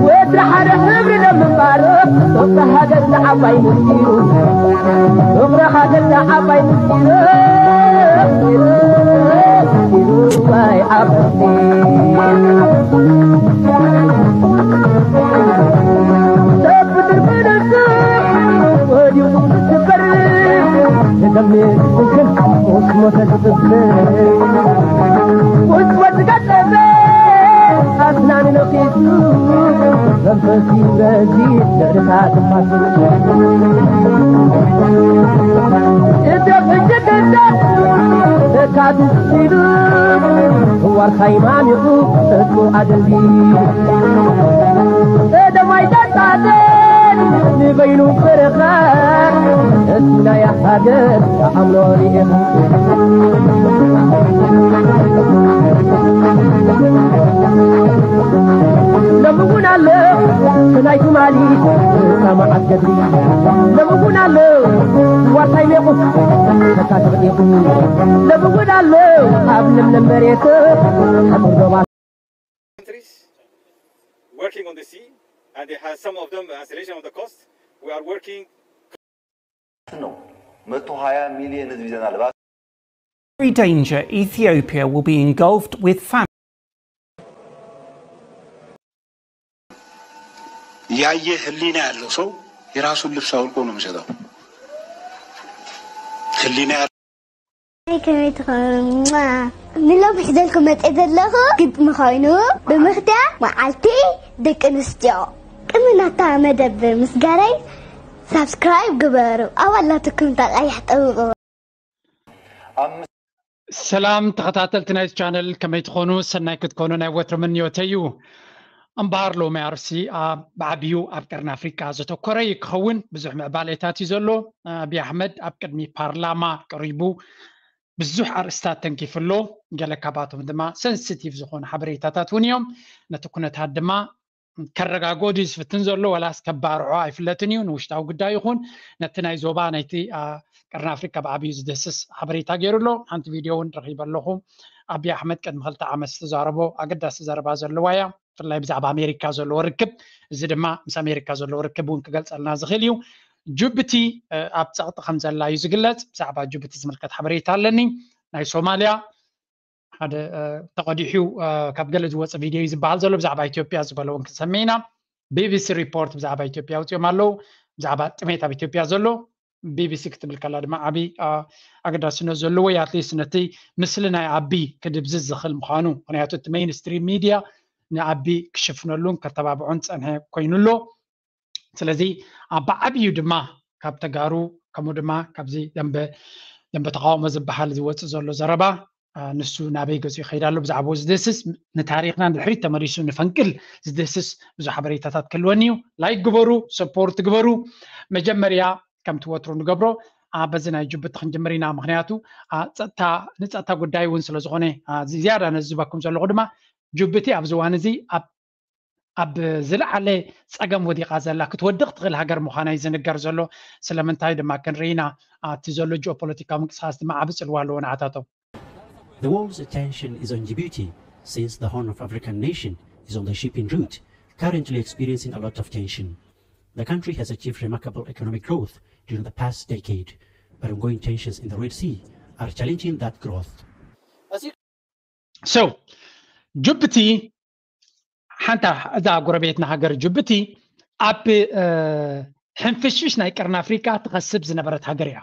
ወትሪ ሓደ ሕብሪ ደምባር ሶስተ ሃገር ንዓባይ ምስጢሩ ፍቕሪ ሃገር ንዓባይ ምስጢሩ ምስጢሩ ባይ ዓበይቲ ሰብ ብድር ብደሱ ወዲቑ ዝስበር ንደምክን ሞት ሞተ ዝጥብር ውስወት ዝጋጠመ ኣስናን ነኺሱ መንፈስ ይብረዚ ልዕልታ ጥፋት እደብ እጅግነት ተካትት ሲሉ ዋርሳይ ማሚቑ እሱ ኣደልዲሉ ቀደማይ ዳጣደል ንበይኑ በረኻ እሱ ናይ ሃገር ተኣምሮ ርኢኻ ሎሚ እውን ኣሎ ናይ ትማሊ ሰማዓት ገድሊ ሎሚ እውን ኣሎ ዋርሳይ ሜቑ ተካትዕ ኢኹ ሎሚ እውን ኣሎ ኣብ ለምለም መሬት ሕቡር ዶባት countries, working on the sea, and they have some of them isolation on the coast. We are working ነው። መቶ ሃያ ሚሊዮን ህዝብ ይዘናል። እባክህ Every danger, Ethiopia will be engulfed with famine. ያየ ህሊና ያለው ሰው የራሱን ልብስ አውልቆ ነው የሚሰጠው። ህሊና ኣይ ከመይ ትኾኑ ንሎም ሒዘልኩም መፅእ ዘለኹ ግጥሚ ኮይኑ ብምኽትያ መዓልቲ ደቂ ኣንስትዮ ቅድሚ ናታ መደብ ምስጋናይ ሳብስክራይብ ግበሩ ኣባል ናትኩም ተቐይሕ ጠብቑ ሰላም ተኸታተልቲ ናይዚ ቻነል ከመይ ትኾኑ ሰናይ ክትኮኑ ናይ ወትሪ ምንዮተይ እዩ እምበኣር ሎሚ ኣርእስቲ ብዓብዩ ኣብ ቀርኒ ኣፍሪቃ ዘተኮረ እዩ ክኸውን ብዙሕ ምዕባሌታት እዩ ዘሎ ኣብይ ኣሕመድ ኣብ ቅድሚ ፓርላማ ቀሪቡ ብዙሕ ኣርእስታት ተንኪፉ ኣሎ ገለ ካባቶም ድማ ሰንስቲቭ ዝኾኑ ሓበሬታታት እውን እዮም ነቲ ኩነታት ድማ ከረጋግኦ ድዩ ዝፍትን ዘሎ ዋላስ ከባርዖ ኣይፍለጥን እዩ ንውሽጣዊ ጉዳይ ይኹን ነቲ ናይ ዞባ ናይቲ ቀርኒ ኣፍሪካ ብዓብዩ ዝድህስስ ሓበሬታ ገይሩ ኣሎ ሓንቲ ቪድዮ እውን ረኺበ ኣለኹ ኣብይ ኣሕመድ ቅድሚ ክልተ ዓመት ዝተዛረቦ ኣገዳሲ ዘረባ ዘለዋ እያ ብፍላይ ብዛዕባ ኣሜሪካ ዘለዎ ርክብ እዚ ድማ ምስ ኣሜሪካ ዘለዎ ርክብ እውን ክገልፀልና ዝኽእል እዩ ጅቡቲ ኣብ ፀቕጢ ከም ዘላ እዩ ዝግለፅ ብዛዕባ ጅቡቲ ዝምልከት ሓበሬታ ኣለኒ ናይ ሶማልያ ሓደ ተቐዲሑ ካብ ገለ ዝወፀ ቪድዮ እዩ ዝበሃል ዘሎ ብዛዕባ ኢትዮጵያ ዝበለ እውን ክንሰምዕ ኢና ቢቢሲ ሪፖርት ብዛዕባ ኢትዮጵያ ኣውፅኦም ኣለዉ ብዛዕባ ጥሜት ኣብ ኢትዮጵያ ዘሎ ቢቢሲ ክትብል ከላ ድማ ዓብዪ ኣገዳስነት ዘለዎ እዩ ኣትሊስት ነቲ ምስሊ ናይ ኣቢ ክድብዝዝ ዝኽእል ምዃኑ ምክንያቱ እቲ ሜይንስትሪም ሚድያ ንኣቢ ክሽፍነሉን ከተባብዖን ዝፀንሐ ኮይኑ ኣሎ ስለዚ ኣብ ብዓብዩ ድማ ካብ ተጋሩ ከምኡ ድማ ካብዚ ደንበ ደንበ ተቃውሞ ዝበሃል ዝወፅእ ዘሎ ዘረባ ንሱ ናበይ ገፁ ይኸይድ ኣሎ ብዛዕባኡ ዝድህስስ ንታሪክና ንድሕሪት ተመሊሱ ንፈንቅል ዝድህስስ ብዙ ሓበሬታታት ክህልወኒ እዩ ላይክ ግበሩ ሰፖርት ግበሩ መጀመርያ ከምቲ ወትሩ ንገብሮ በዚ ናይ ጅቡቲ ክንጅምር ኢና ምክንያቱ ንፀጥታ ጉዳይ እውን ስለዝኮነ ዝያዳ ነዝበኩም ዘለኩ ድማ ጅቡቲ ኣብዚ እዋን እዚ ኣብ ዝለዓለ ፀገም ወዲቃ ዘላ ክትወድቅ ትክእል ሃገር ምኳና እዩ ዝንገር ዘሎ ስለምንታይ ድማ ክንርኢ ኢና እቲ ዘሎ ጂኦፖለቲካዊ ምንቅስቃስ ድማ ዓቢ ፅልዋ ኣለዎ ንዓታቶም The world's attention is on Djibouti since the Horn of African nation is on the shipping route, currently experiencing a lot of tension. The country has achieved remarkable economic growth during the past decade, but ongoing tensions in the Red Sea are challenging that growth. So, ጅቡቲ ሓንታ እዛ ጎረቤትና ሃገር ጅቡቲ ኣብ ሕንፍሽፍሽ ናይ ቀርኒ ኣፍሪቃ ትኸስብ ዝነበረት ሃገር እያ።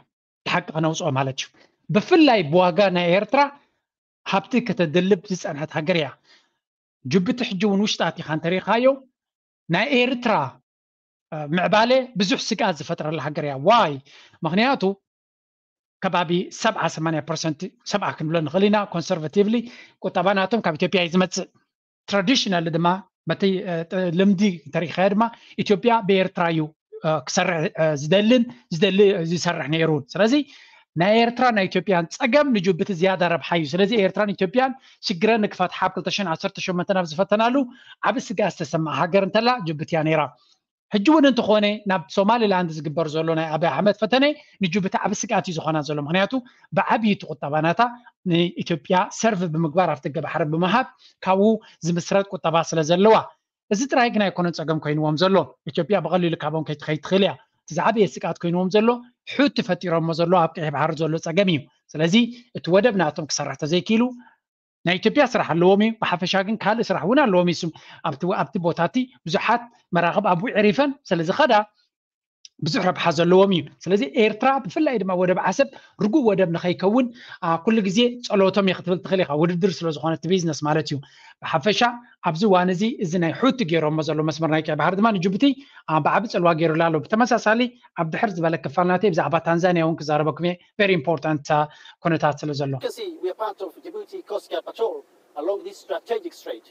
ብሓቂ ከነውፅኦ ማለት እዩ። ብፍላይ ብዋጋ ናይ ኤርትራ ሃብቲ ከተድልብ ዝፀንሐት ሃገር እያ። ጅቡቲ ሕጂ እውን ውሽጣ ኣቲኻ እንተሪኢኻዮ ናይ ኤርትራ ምዕባለ ብዙሕ ስግኣት ዝፈጥረላ ሃገር እያ። ዋይ? ምኽንያቱ ከባቢ ሰብዓ ሰማንያ ፐርሰንት ሰብዓ ክንብሎ ንኽእል ኢና ኮንሰርቫቲቭሊ ቁጠባ ናቶም ካብ ኢትዮጵያ እዩ ዝመፅእ። ትራዲሽናሊ ድማ በቲ ልምዲ እንተሪኢኻዮ ድማ ኢትዮጵያ ብኤርትራ እዩ ክሰርሕ ዝደልን ዝሰርሕ ነይሩን ስለዚ ናይ ኤርትራ ናይ ኢትዮጵያን ፀገም ንጅቡቲ ዝያዳ ረብሓ እዩ ስለዚ ኤርትራን ኢትዮጵያን ሽግረን ንክፈትሓ ኣብ ክልተ ሽሕን ዓሰርተ ሸሞንተን ኣብ ዝፈተናሉ ዓብ ስግኣት ዝተሰምዓ ሃገር እንተላ ጅቡቲ እያ ነይራ ሕጂ እውን እንተኾነ ናብ ሶማሊላንድ ዝግበር ዘሎ ናይ ኣብይ ኣሕመድ ፈተነ ንጅቡቲ ዓቢ ስግኣት እዩ ዝኾና ዘሎ። ምክንያቱ ብዓብዪ እቲ ቁጠባ ናታ ንኢትዮጵያ ሰርቭ ብምግባር ኣብቲ ገባሕሪ ብምሃብ ካብኡ ዝምስረት ቁጠባ ስለ ዘለዋ። እዚ ጥራይ ግን ኣይኮነን ጸገም ኮይንዎም ዘሎ። ኢትዮጵያ ብቐሊሉ ካብኦም ከይትኸይድ ትኽእል እያ። እቲ ዝዓበየ ስግኣት ኮይንዎም ዘሎ ሑቲ ፈጢሮሞ ዘሎ ኣብ ቀይሕ ባሕሪ ዘሎ ጸገም እዩ። ስለዚ እቲ ወደብ ናቶም ክሰርሕ ተዘይክኢሉ ናይ ኢትዮጵያ ስራሕ ኣለዎም እዩ። ብሓፈሻ ግን ካልእ ስራሕ እውን ኣለዎም እዩ። ኣብቲ ኣብቲ ቦታ እቲ ብዙሓት መራኽብ ኣብኡ ዕሪፈን ስለ ዝኸዳ ብዙሕ ረብሓ ዘለዎም እዩ። ስለዚ ኤርትራ ብፍላይ ድማ ወደብ ዓሰብ ርጉእ ወደብ ንኸይከውን ኩሉ ግዜ ጸሎቶም እየ ክትብል ትኽእል ኢኻ። ውድድር ስለ ዝኾነ እቲ ቢዝነስ ማለት እዩ። ብሓፈሻ ኣብዚ እዋን እዚ እዚ ናይ ሑቲ ገይሮሞ ዘሎ መስመር ናይ ቀይ ባሕሪ ድማ ንጅቡቲ ብዓቢ ጽልዋ ገይሩላ ኣሎ። ብተመሳሳሊ ኣብ ድሕር ዝበለ ክፋል ናተይ ብዛዕባ ታንዛንያ እውን ክዛረበኩም እየ። ቨሪ ኢምፖርታንት ኩነታት ስለ ዘሎ You can see we are part of Djibouti Coast Guard patrol along this strategic strait.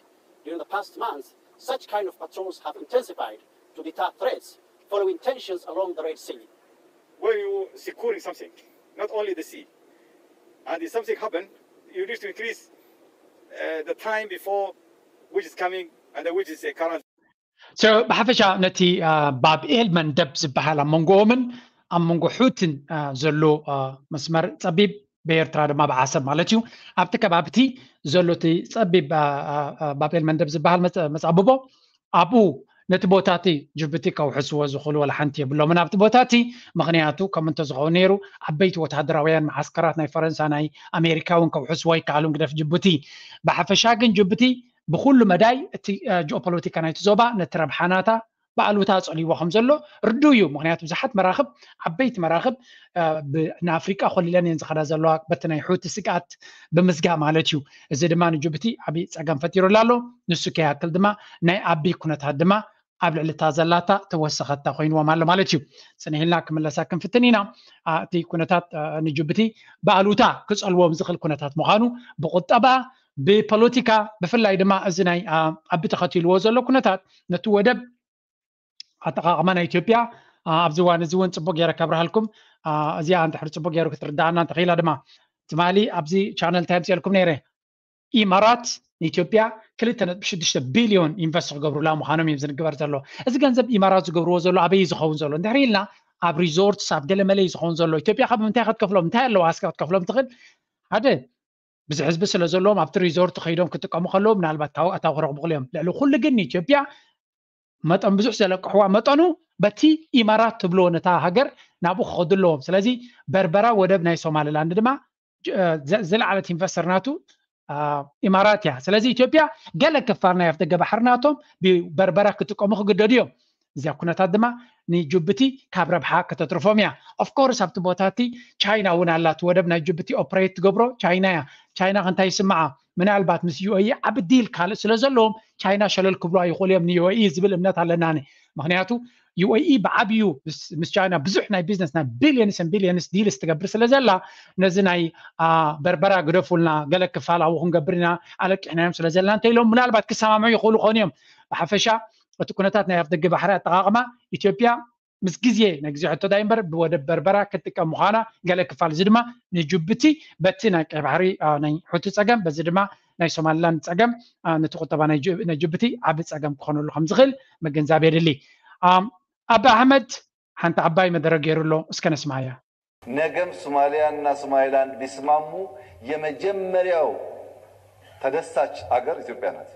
During the past months, such kind of patrols have intensified to deter threats following tensions along the Red Sea. When you securing something, not only the sea, and if something happened, you need to increase uh, the time before which is coming and which is uh, current. So ብሓፈሻ ነቲ ባብ ኤል መንደብ ዝበሃል ኣብ መንጎኦምን ኣብ መንጎ ሑትን ዘሎ መስመር ጸቢብ ብኤርትራ ድማ ብዓሰብ ማለት እዩ። ኣብቲ ከባቢ እቲ ዘሎ እቲ ጸቢብ ባብ ኤል መንደብ ዝበሃል መጻብቦ ኣብኡ ነቲ ቦታ እቲ ጅቡቲ ከውሕስዎ ዝኽእሉ ወላ ሓንቲ የብሎምን ኣብቲ ቦታ እቲ። ምኽንያቱ ከም እንተዝኸውን ነይሩ ዓበይቲ ወታደራውያን መዓስከራት ናይ ፈረንሳ ናይ ኣሜሪካ እውን ከውሕስዎ ኣይከኣሉን ግደፍ ጅቡቲ። ብሓፈሻ ግን ጅቡቲ ብኩሉ መዳይ እቲ ጂኦፖለቲካ ናይቲ ዞባ ነቲ ረብሓ ናታ ብኣሉታ ጸልይዎ ከም ዘሎ ርዱእ እዩ። ምክንያቱ ብዙሓት መራኽብ ዓበይቲ መራኽብ ንኣፍሪቃ ኮሊለን እየን ዝኸዳ ዘለዋ በቲ ናይ ሑቲ ስግኣት ብምስጋ ማለት እዩ። እዚ ድማ ንጅቡቲ ዓብዪ ጸገም ፈጢሩላ ኣሎ። ንሱ ከይኣክል ድማ ናይ ኣቢ ኩነታት ድማ ኣብ ልዕሊ እታ ዘላታ ተወሰኸታ ኮይንዎም ኣሎ ማለት እዩ። ጽንሕ ኢልና ክምለሳ ክንፍትን ኢና። እቲ ኩነታት ንጅቡቲ ብኣሉታ ክጸልዎም ዝኽእል ኩነታት ምዃኑ ብቁጠባ ብፖለቲካ ብፍላይ ድማ እዚ ናይ ኣቢ ተኸቲልዎ ዘሎ ኩነታት ነቲ ወደብ ኣጠቃቅማ ናይ ኢትዮጵያ ኣብዚ እዋን እዚ እውን ፅቡቅ ገይረ ከብርሃልኩም። እዚኣ እንድሕር ፅቡቅ ገይሩ ክትርዳኣና እንተኽኢላ ድማ ትማሊ ኣብዚ ቻነል እንታይ ኣምፅኤልኩም ነይረ? ኢማራት ንኢትዮጵያ ክልተ ነጥቢ ሽዱሽተ ቢልዮን ኢንቨስት ክገብሩላ ምዃኖም እዮም ዝንግበር ዘሎ። እዚ ገንዘብ ኢማራት ዝገብርዎ ዘሎ ኣበይ ዝኸውን ዘሎ እንድሕር ኢልና ኣብ ሪዞርትስ ኣብ ገለመለ እዩ ዝኸውን ዘሎ። ኢትዮጵያ ካብ ምንታይ ክትከፍሎም እንታይ ኣለዋ እስከ ክትከፍሎም ትኽእል? ሓደ ብዙሕ ህዝቢ ስለ ዘለዎም ኣብቲ ሪዞርት ከይዶም ክጥቀሙ ከለዉ ምናልባት ካብኡ ኣታዊ ክረኽቡ ክልዮም። ልዕሊ ኩሉ ግን ንኢትዮጵያ መጠን ብዙሕ ዘለቅሕዋ መጠኑ በቲ ኢማራት ትብልዎ ነታ ሃገር ናብኡ ክኸዱ ኣለዎም። ስለዚ በርበራ ወደብ ናይ ሶማሊላንድ ድማ ዝለዓለት ኢንቨስተር ናቱ ኢማራት እያ። ስለዚ ኢትዮጵያ ገለ ክፋል ናይ ኣፍደገ ባሕሪ ናቶም ብበርበራ ክጥቀሙ ክግደዱ እዮም። እዚኣ ኩነታት ድማ ንጅቡቲ ካብ ረብሓ ከተትርፎም እያ። ኦፍኮርስ ኣብቲ ቦታ እቲ ቻይና እውን ኣላ። እቲ ወደብ ናይ ጅቡቲ ኦፕሬት ትገብሮ ቻይና እያ። ቻይና ከ እንታይ ይስምዓ? ምናልባት ምስ ዩኤኢ ዓቢ ዲል ካልእ ስለ ዘለዎም ቻይና ሸለል ክብሉ ኣይኽእሉ እዮም ንዩኤኢ ዝብል እምነት ኣለና። ምክንያቱ ዩኤኢ ብዓብዩ ምስ ቻይና ብዙሕ ናይ ቢዝነስ ናይ ቢልዮንስ ን ቢልዮንስ ዲልስ ትገብር ስለ ዘላ ነዚ ናይ በርበራ ግደፉልና ገለ ክፋል ኣብኡ ክንገብር ኢና ኣለቂሕናዮም ስለ ዘለና እንተ ኢሎም ምናልባት ክሰማምዑ ይኽእሉ ኾኑ እዮም። ብሓፈሻ እቲ ኩነታት ናይ ኣፍደገ ባሕሪ ኣጠቃቅማ ኢትዮጵያ ምስ ግዜ ናይ ግዜ ሕቶ ዳይ እምበር ብወደብ በርበራ ክትጥቀም ምዃና ገለ ክፋል እዚ ድማ ንጅቡቲ በቲ ናይ ቀይ ባሕሪ ናይ ሑቲ ጸገም በዚ ድማ ናይ ሶማሊላንድ ጸገም ነቲ ቁጠባ ናይ ጅቡቲ ዓቢ ጸገም ክኾነሉ ከም ዝኽእል ምግንዛብ የድሊ። ኣቢ ኣሕመድ ሓንቲ ዓባይ መደረ ገይሩ ኣሎ እስከ ነስማያ። ነገም ሶማሊያና ሶማሊላንድ ቢስማሙ የመጀመሪያው ተደሳች አገር ኢትዮጵያ ናት።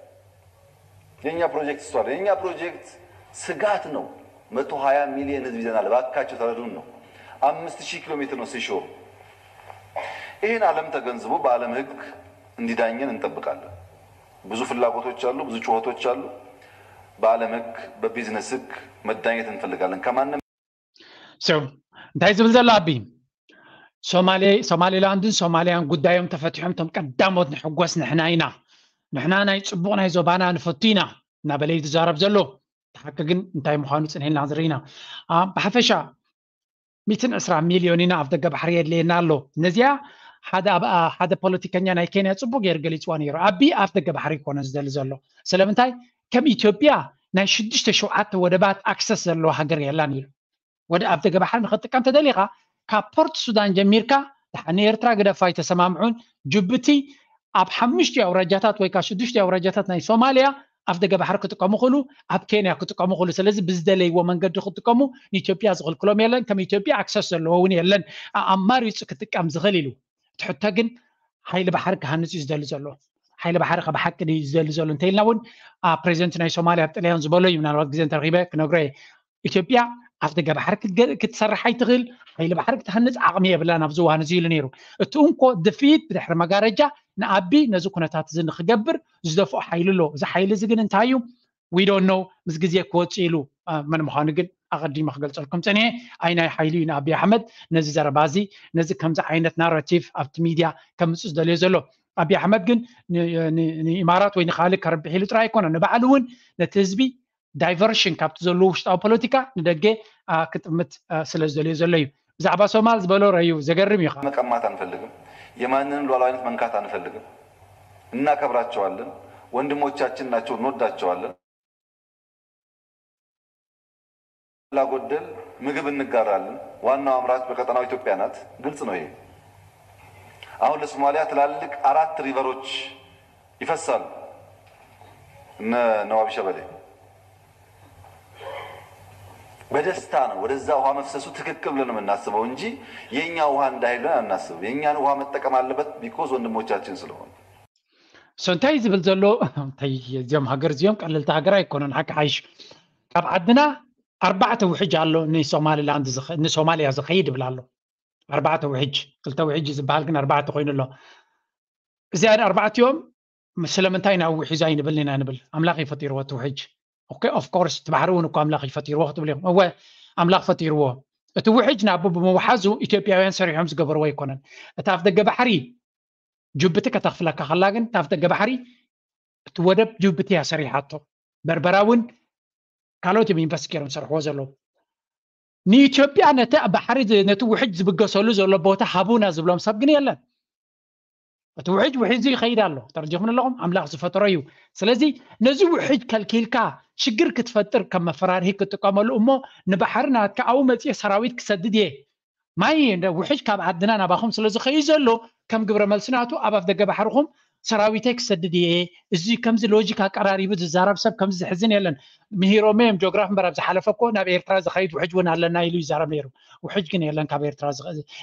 የኛ ፕሮጀክት እሷ የኛ ፕሮጀክት ስጋት ነው። መቶ ሃያ ሚሊዮን ህዝብ ይዘናል። እባካችሁ ተረዱን ነው። አምስት ሺህ ኪሎ ሜትር ነው ሲሾር። ይህን ዓለም ተገንዝቦ በዓለም ህግ እንዲዳኘን እንጠብቃለን። ብዙ ፍላጎቶች አሉ፣ ብዙ ጩኸቶች አሉ። በዓለም ህግ በቢዝነስ ህግ መዳኘት እንፈልጋለን ከማንም So እንታይ ዝብል ዘሎ ኣቢ ሶማሌ ሶማሌላንድን ሶማሊያን ጉዳዮም ተፈቲሖም እቶም ቀዳሞት ንሕጎስ ንሕና ኢና፣ ንሕና ናይ ፅቡቕ ናይ ዞባና ንፈቱ ኢና እናበለ እዩ ዝዛረብ ዘሎ። እቲ ሓቂ ግን እንታይ ምዃኑ ፅንሒልና ዝርኢና። ብሓፈሻ ሚትን ዕስራ ሚልዮን ኢና ኣፍ ደገ ባሕሪ የድልየና ኣሎ። ነዚኣ ሓደ ፖለቲከኛ ናይ ኬንያ ፅቡቅ ገይሩ ገሊፅዋ ነይሩ። ኣቢ ኣፍ ደገ ባሕሪ ይኮነ ዝደሊ ዘሎ። ስለምንታይ ከም ኢትዮጵያ ናይ ሽዱሽተ ሸውዓተ ወደባት ኣክሰስ ዘለዋ ሃገር የላን ኢሉ። ወደ ኣፍ ደገ ባሕሪ ንክትጥቀም ተደሊካ ካብ ፖርት ሱዳን ጀሚርካ ንኤርትራ ግደፋ ኣይተሰማምዑን። ጅቡቲ ኣብ ሓሙሽተ ኣውራጃታት ወይ ከዓ ሽዱሽተ ኣውራጃታት ናይ ሶማሊያ ኣፍ ደገ ባሕሪ ክጥቀሙ ክእሉ፣ ኣብ ኬንያ ክጥቀሙ ክእሉ። ስለዚ ብዝደለይዎ መንገዲ ክጥቀሙ ንኢትዮጵያ ዝኽልክሎም የለን። ከም ኢትዮጵያ ኣክሰስ ዘለዎ እውን የለን። ኣማሪፁ ክጥቀም ዝኽእል ኢሉ። እቲ ሕቶ ግን ሓይሊ ባሕሪ ክሃንፅ እዩ ዝደሊ ዘሎ። ሓይሊ ባሕሪ ካብ ሓቂ ድዩ ዝደሊ ዘሎ እንተኢልና እውን ፕሬዚደንት ናይ ሶማልያ ኣብ ጥልያን ዝበሎ እዩ። ምናልባት ግዜ እንተረኪበ ክነግሮ እየ። ኢትዮጵያ ኣፍ ደገ ባሕሪ ክትሰርሕ ኣይትኽእል፣ ሓይሊ ባሕሪ ክትሃንፅ ዓቕሚ የብላን ኣብዚ እዋን እዚ ኢሉ ነይሩ። እቲ እንኮ ድፍኢት ብድሕሪ መጋረጃ ንኣቢ ነዚ ኩነታት እዚ ንክገብር ዝደፍኦ ሓይሊ ኣሎ። እዚ ሓይሊ እዚ ግን እንታይ እዩ? We don't know። ምስ ግዜ ክወፅእ ኢሉ መን ምዃኑ ግን ኣቐዲመ ክገልፀልኩም ፀኒሐ። ኣይ ናይ ሓይሊ እዩ ንኣቢ ኣሕመድ ነዚ ዘረባ እዚ፣ ነዚ ከምዚ ዓይነት ናራቲቭ ኣብቲ ሚድያ ከምፅእ ዝደልዮ ዘሎ። ኣቢ ኣሕመድ ግን ንኢማራት ወይ ንካልእ ከርብሕ ኢሉ ጥራይ ኣይኮነን፣ ንባዕሉ እውን ነቲ ህዝቢ ዳይቨርሽን ካብቲ ዘለዎ ውሽጣዊ ፖለቲካ ንደገ ክጥምት ስለ ዝደልዮ ዘሎ እዩ። ብዛዕባ ሶማል ዝበሎ ረዩ ዘገርም እዩ። መቀማት አንፈልግም። የማንንም ሉዓላዊነት መንካት አንፈልግም። እናከብራቸዋለን። ወንድሞቻችን ናቸው፣ እንወዳቸዋለን። ላጎደል ምግብ እንጋራለን። ዋናው አምራች በቀጠናው ኢትዮጵያ ናት። ግልጽ ነው ይሄ። አሁን ለሶማሊያ ትላልቅ አራት ሪቨሮች ይፈሳሉ። እነ ነዋቢ ሸበሌ በደስታ ነው ወደዛ ውሃ መፍሰሱ ትክክል ብለን የምናስበው እንጂ የኛ ውሃ እንዳይለን አናስብም። የኛን ውሃ መጠቀም አለበት because ወንድሞቻችን ስለሆኑ። So እንታይ ዝብል ዘሎ እንታይ እዚኦም ሃገር እዚኦም ቀለልቲ ሃገር ኣይኮነን። ሓቂ ሓይሽ ካብ ዓድና ኣርባዕተ ውሕጅ ኣሎ ንሶማሊላንድ ንሶማሊያ ዝኸይድ ይብል ኣሎ። ኣርባዕተ ውሕጅ ክልተ ውሕጅ ዝበሃል ግን ኣርባዕተ ኮይኑ ኣሎ። እዚኣን ኣርባዕቲኦም ስለምንታይ ናብ ውሒዙ ኣይንብል ኢና ንብል። ኣምላኽ እዩ ፈጢርዎ እቲ ውሕጅ። ኦኬ ኦፍ ኮርስ እቲ ባሕሪ እውን እኮ ኣምላኽ እዩ ፈጢርዎ ክትብል ኢኹም። እወ ኣምላኽ ፈጢርዎ። እቲ ውሕጅ ናቡ ብምውሓዙ ኢትዮጵያውያን ሰሪሖም ዝገበርዎ ኣይኮነን። እቲ ኣፍ ደገ ባሕሪ ጅቡቲ ከተኽፍለካ ከላ ግን እቲ ኣፍ ደገ ባሕሪ እቲ ወደብ ጅቡቲ እያ ሰሪሓቶ። በርበራ እውን ካልኦት እዮም ኢንቨስት ገይሮም ዝሰርሕዎ ዘለዉ። ንኢትዮጵያ ነቲ ባሕሪ ነቲ ውሕጅ ዝብገሰሉ ዘሎ ቦታ ሃቡና ዝብሎም ሰብ ግን የለን። እቲ ውሕጅ ውሒዙ ይኸይድ ኣሎ። ተረዲኹም ኣለኹም ኣምላኽ ዝፈጠሮ እዩ። ስለዚ ነዚ ውሕጅ ከልኪልካ ሽግር ክትፈጥር ከም መፈራርሂ ክትጥቀመሉ እሞ ንባሕሪ ናትካ ኣብኡ መፅኤ ሰራዊት ክሰድድ እየ ማይ ውሕጅ ካብ ዓድና ናባኹም ስለ ዝኸዩ ዘሎ ከም ግብረ መልሲ ናቱ ኣብ ኣፍ ደገ ባሕርኹም ሰራዊተይ ክሰድድ እየ። እዚ ከምዚ ሎጂክ ኣቀራሪቡ ዝዛረብ ሰብ ከምዚ ዝሕዝን የለን። ምሂሮም እዮም ጂኦግራፊ እምበር ኣብ ዝሓለፈ እኮ ናብ ኤርትራ ዝኸይድ ውሕጅ እውን ኣለና ኢሉ ይዛረብ ነይሩ። ውሕጅ ግን የለን ካብ ኤርትራ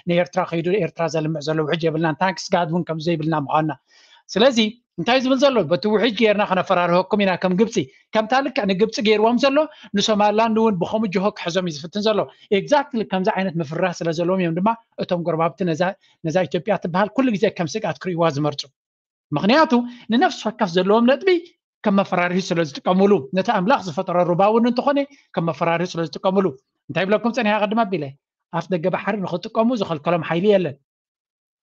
ንኤርትራ ከይዱ ኤርትራ ዘልምዕ ዘሎ ውሕጅ የብልናን። ታንክስ ጋድ እውን ከምዚ ዘይብልና ምዃንና ስለዚ እንታይ ዝብል ዘሎ በቲ ውሕጅ ጌርና ከነፈራርሀኩም ኢና ከም ግብፂ ከምታ ልክዕ ንግብፂ ገይርዎም ዘሎ ንሶማላንድ እውን ብኸምኡ ጅሆ ክሕዞም እዩ ዝፍትን ዘሎ። ኤግዛክትሊ ከምዚ ዓይነት ምፍርራህ ስለ ዘለዎም እዮም ድማ እቶም ጎረባብቲ ነዛ ኢትዮጵያ ትበሃል ኩሉ ግዜ ከም ስግኣት ክርእይዋ ዝመርፁ። ምክንያቱ ንነፍሲ ወከፍ ዘለዎም ነጥቢ ከም መፈራርሂ ስለ ዝጥቀምሉ ነቲ ኣምላኽ ዝፈጠሮ ሩባ እውን እንተኾነ ከም መፈራርሂ ስለ ዝጥቀምሉ እንታይ ብለኩም ፀኒሓ ቅድም ኣቢለ ኣፍ ደገ ባሕሪ ንክጥቀሙ ዝኸልከሎም ሓይሊ የለን።